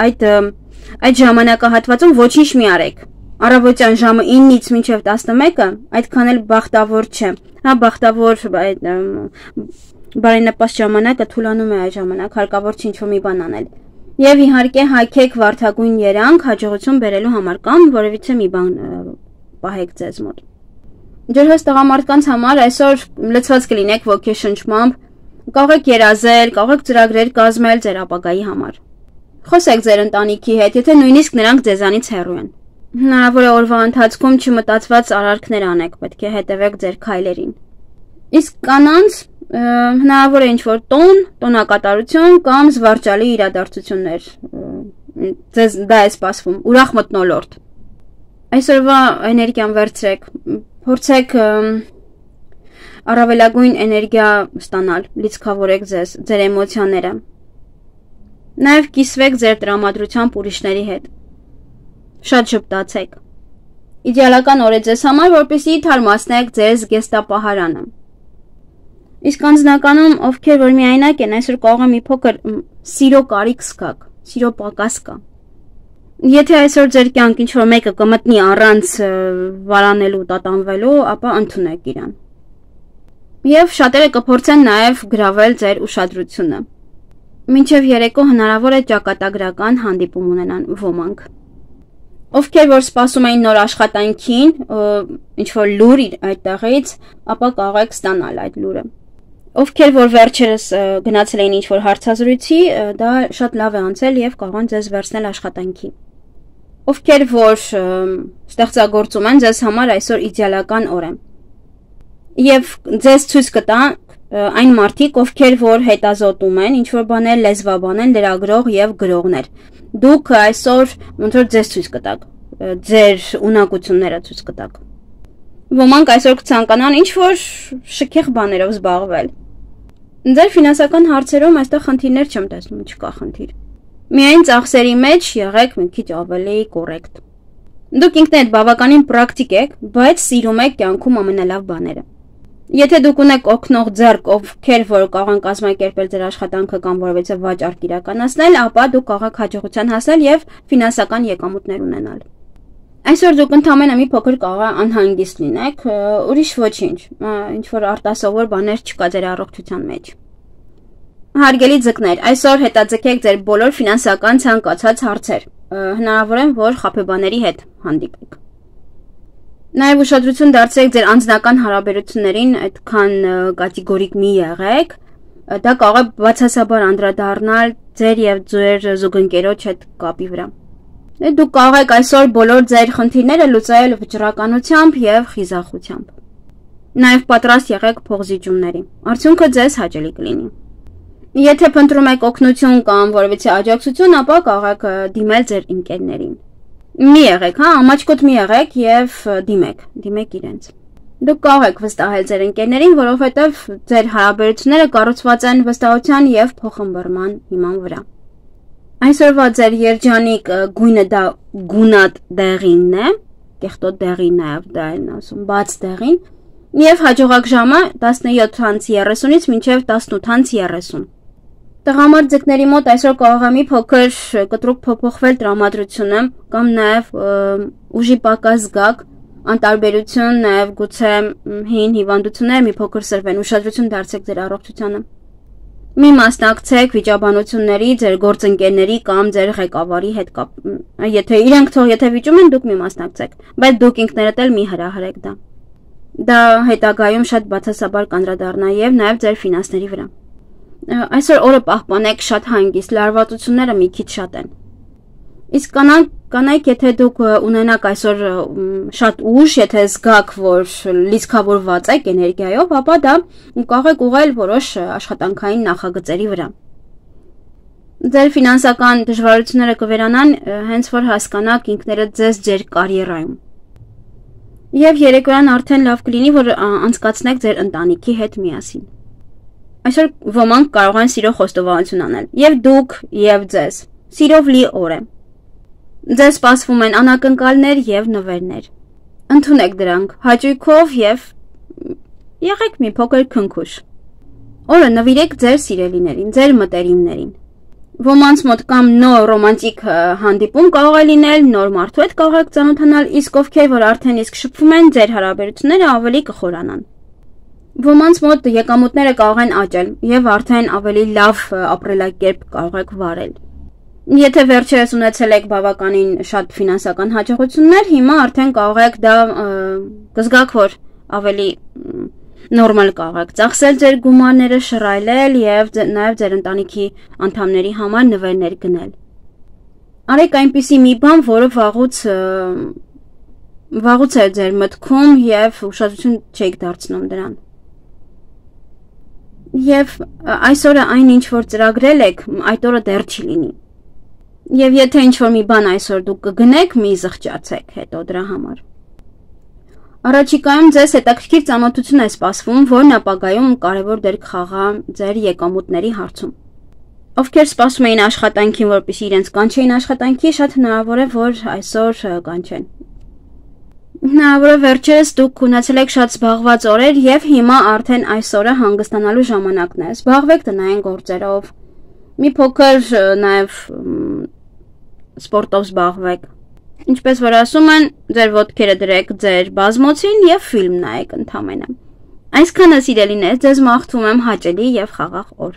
Speaker 1: այդ ժամանակահատվածում ոչինչ մի արեք։ Առավոտյան ժամը 9-ից մինչև 11-ը այդքան էլ բախտավոր չէ։ Հա, բախտավոր բարենպաստ ժամանակը թուլանում է այդ ժամանակ, հարկավոր չի ինչ-որ մի բան անել։ Եվ իհարկե հագեք վարդագույն երանգ հաջողություն բերելու համար կամ որևիցե մի բան պահեք ձեզ մոտ։ Ջրհոս տղամարդկանց համար այսօր լցված կլինեք ոգեշնչմամբ, կարող եք երազել, կարող եք ծրագրեր կազմել ձեր ապագայի համար։ Խոսեք ձեր ընտանիքի հետ, եթե նույնիսկ նրանք ձեզանից հեռու են։ Հնարավոր է օրվա ընթացքում չմտածված արարքներ անեք, պետք է հետևեք ձեր քայլերին։ Իսկ կանանց հնարավոր է ինչ-որ տոնակատարություն կամ զվարճալի իրադարձություններ։ Ձեզ դա է սպասվում, ուրախ մթնոլորտ։ Այսօրվա էներգիան վերցրեք, փորձեք առավելագույն էներգիա ստանալ, լիցքավորեք ձեր էմոցիաները։ Նաև կիսվեք ձեր տրամադրությամբ ուրիշների հետ։ Շատ ժպտացեք։ Իդեալական օր է ձեզ համար, որպեսզի թարմացնեք ձեր զգեստապահարանը։ Իսկ անձնականում, ովքեր որ միայնակ են, այսօր կարող է մի փոքր սիրո կարիք զգաք, սիրո պակաս կա։ Եթե այսօր ձեր կյանք ինչ-որ մեկը կմտնի առանց վարանելու, տատանվելու, ապա ընդունեք իրան։ Եվ շատերը կփորձեն նաև գրավել ձեր ուշադրությունը։ Մինչև երեկո հնարավոր է ճակատագրական հանդիպում ունենան ոմանք։ Ովքեր որ սպասում էին նոր աշխատանքին, ինչ-որ լուր այդտեղից, ապա կարող եք ստանալ այդ լուրը։ Ովքեր որ վերջերս գնացել էին ինչ-որ հարցազրույցի, դա շատ լավ է անցել եւ կարող են ձեզ վերցնել աշխատանքի։ Ովքեր որ ստեղծագործում են, ձեզ համար այսօր իդեալական օր է։ Եվ ձեզ ցույց կտա այն մարդիկ, ովքեր որ հետազոտում են, ինչ որ բաներ լեզվաբան են, լրագրող եւ գրողներ։ Դուք այսօր ոնց որ ձեզ ցույց կտաք, ձեր ունակությունները ցույց կտաք։ Ոմանք այսօր կցանկանան ինչ որ շքեղ բաներով զբաղվել։ Ձեր ֆինանսական հարցերում այստեղ խնդիրներ չեմ տեսնում, չկա խնդիր։ Միայն ծախսերի մեջ եղեք մի քիչ ավելի կոռեկտ։ Դուք ինքներդ բավականին պրակտիկ եք, բայց սիրում եք կյանքում ամենալավ բաները։ Եթե դուք ունեք օգնող ձեռք, ովքեր որ կարող են կազմակերպել ձեր աշխատանքը կամ որևէ վաճառք իրականացնել, ապա դուք կարող եք հաջողության հասնել եւ ֆինանսական եկամուտներ ունենալ։ Այսօր դուք ընդամենը մի փոքր կարող է անհանգիստ լինեք, ուրիշ ոչինչ, ինչ որ արտասովոր բաներ չկա ձեր առողջության մեջ։ Հարգելի ձկներ, այսօր հետաձգեք ձեր բոլոր ֆինանսական ցանկացած հարցեր։ Հնարավոր է, որ խաբեբաների հետ հանդիպեք։ Նաև ուշադրություն դարձրեք ձեր անձնական հարաբերություններին, այդքան կատեգորիկ մի եղեք, դա կարող է բացասաբար անդրադառնալ ձեր եւ ձեր զուգընկերոջ հետ կապի վրա։ Դուք կարող եք այսօր բոլոր ձեր խնդիրները լուծել վճռականությամբ եւ խիզախությամբ։ Նաև պատրաստ եղեք փողզիջումների։ Արդյունքը ձեզ հաճելի կլինի։ Եթե փնտրում եք օգնություն կամ որևէ աջակցություն, ապա կարող եք դիմել ձեր ընկերներին։ Մի եղեք, հա, ամաչկոտ մի եղեք եւ դիմեք իրենց։ Դուք կարող եք վստահել ձեր ընկերներին, որովհետեւ ձեր հարաբերությունները կառուցված են վստահության եւ փոխըմբռնման հիման վրա։ Այսօրվա ձեր երջանիկ գույնը դա գունատ դեղինն է, կեղտոտ դեղին նաեւ դա են ասում, բաց դեղին, եւ հաջողակ ժամը 17:30-ից մինչեւ 18:30։ Տղամարդիկների մոտ այսօր կարող է մի փոքր կտրուկ փոփոխվել տրամադրությունը կամ նաև ուժի պակաս զգաք, անտարբերություն, նաև գուցե հին հիվանդություններ մի փոքր սրվեն, ուշադրություն դարձեք ձեր առողջությանը։ Մի մասնակցեք վիճաբանությունների ձեր գործընկերների կամ ձեր ղեկավարի հետ եթե իրենք եթե վիճում են, դուք մի մասնակցեք, բայց դուք ինքներդ էլ մի հրահրեք դա։ Դա հետագայում շատ բացասաբար կանդրադառնա եւ նաև ձեր ֆինանսների վրա։ Այսօր օրը պահպանեք շատ հանգիստ, լարվածությունները մի քիչ շատ են։ Իսկ կանայք, եթե դուք ունենաք այսօր շատ ուժ, եթե զգաք, որ լիցքավորված եք էներգիայով, ապա դա կարող եք ուղղել որոշ աշխատանքային նախագծերի վրա։ Ձեր ֆինանսական դժվարությունները կվերանան հենց որ հասկանաք ինքներդ ձեզ ձեր կարիերայում։ Եվ երեկոյան արդեն լավ կլինի, որ անցկացնեք ձեր ընտանիքի հետ միասին։ Այսօր ոմանք կարող են սիրո խոստովանություն անել, եւ դուք, եւ ձեզ։ Սիրով լի օր է։ Ձեզ սպասվում են անակնկալներ եւ նվերներ։ Ընդունեք դրանք հաճույքով եւ եղեք մի փոքր քնքուշ։ Օրը նվիրեք ձեր սիրելիներին, ձեր մտերիմներին։ Ոմանց մոտ կամ նոր ռոմանտիկ հանդիպում կարող է լինել, նոր մարդու հետ կարող եք ծանոթանալ, իսկ ովքեր որ արդեն իսկ շփվում են, ձեր հարաբերությունները ավելի կխորանան։ Ոմանց մոտ եկամուտները կարող են աճել եւ արդեն ավելի լավ ապրելակերպ կարող եք վարել։ Եթե վերջերս ունեցել եք բավականին շատ ֆինանսական հաջողություններ, հիմա արդեն կարող եք դա կզգաք, որ ավելի նորմալ կարող եք ծախսել ձեր գումարները, շռայլել եւ նաեւ ձեր ընտանիքի անդամների համար նվերներ գնել։ Արեք այնպիսի մի բան, որը վաղուց է ձեր մտքում եւ ուշադրություն չեք դարձնում դրան։ Եվ այսօրը այն ինչ որ ծրագրել եք, այդ օրը դեռ չի լինի։ Եվ եթե ինչ որ մի բան այսօր դուք կգնեք, մի զղջացեք հետո դրա համար։ Առաջիկայում ձեզ հետաքրքիր ծանոթություն է սպասվում, որն ապագայում կարևոր դեր կխաղա ձեր եկամուտների հարցում։ Ովքեր սպասում էին աշխատանքին, որպեսզի իրենց կանչեին աշխատանքի, շատ հնարավոր է, որ այսօր կանչեն։ Հնարավոր է վերջերս դուք ունեցել եք շատ զբաղված օրեր եւ հիմա արդեն այսօրը հանգստանալու ժամանակն է։ Զբաղվեք տնային գործերով։ Մի փոքր նաեւ սպորտով զբաղվեք։ Ինչպես որ ասում են, ձեր ոտքերը դրեք ձեր բազմոցին եւ ֆիլմ նայեք ընդամենը։ Այսքանը սիրելիներ, ձեզ մաղթում եմ հաճելի եւ խաղաղ օր։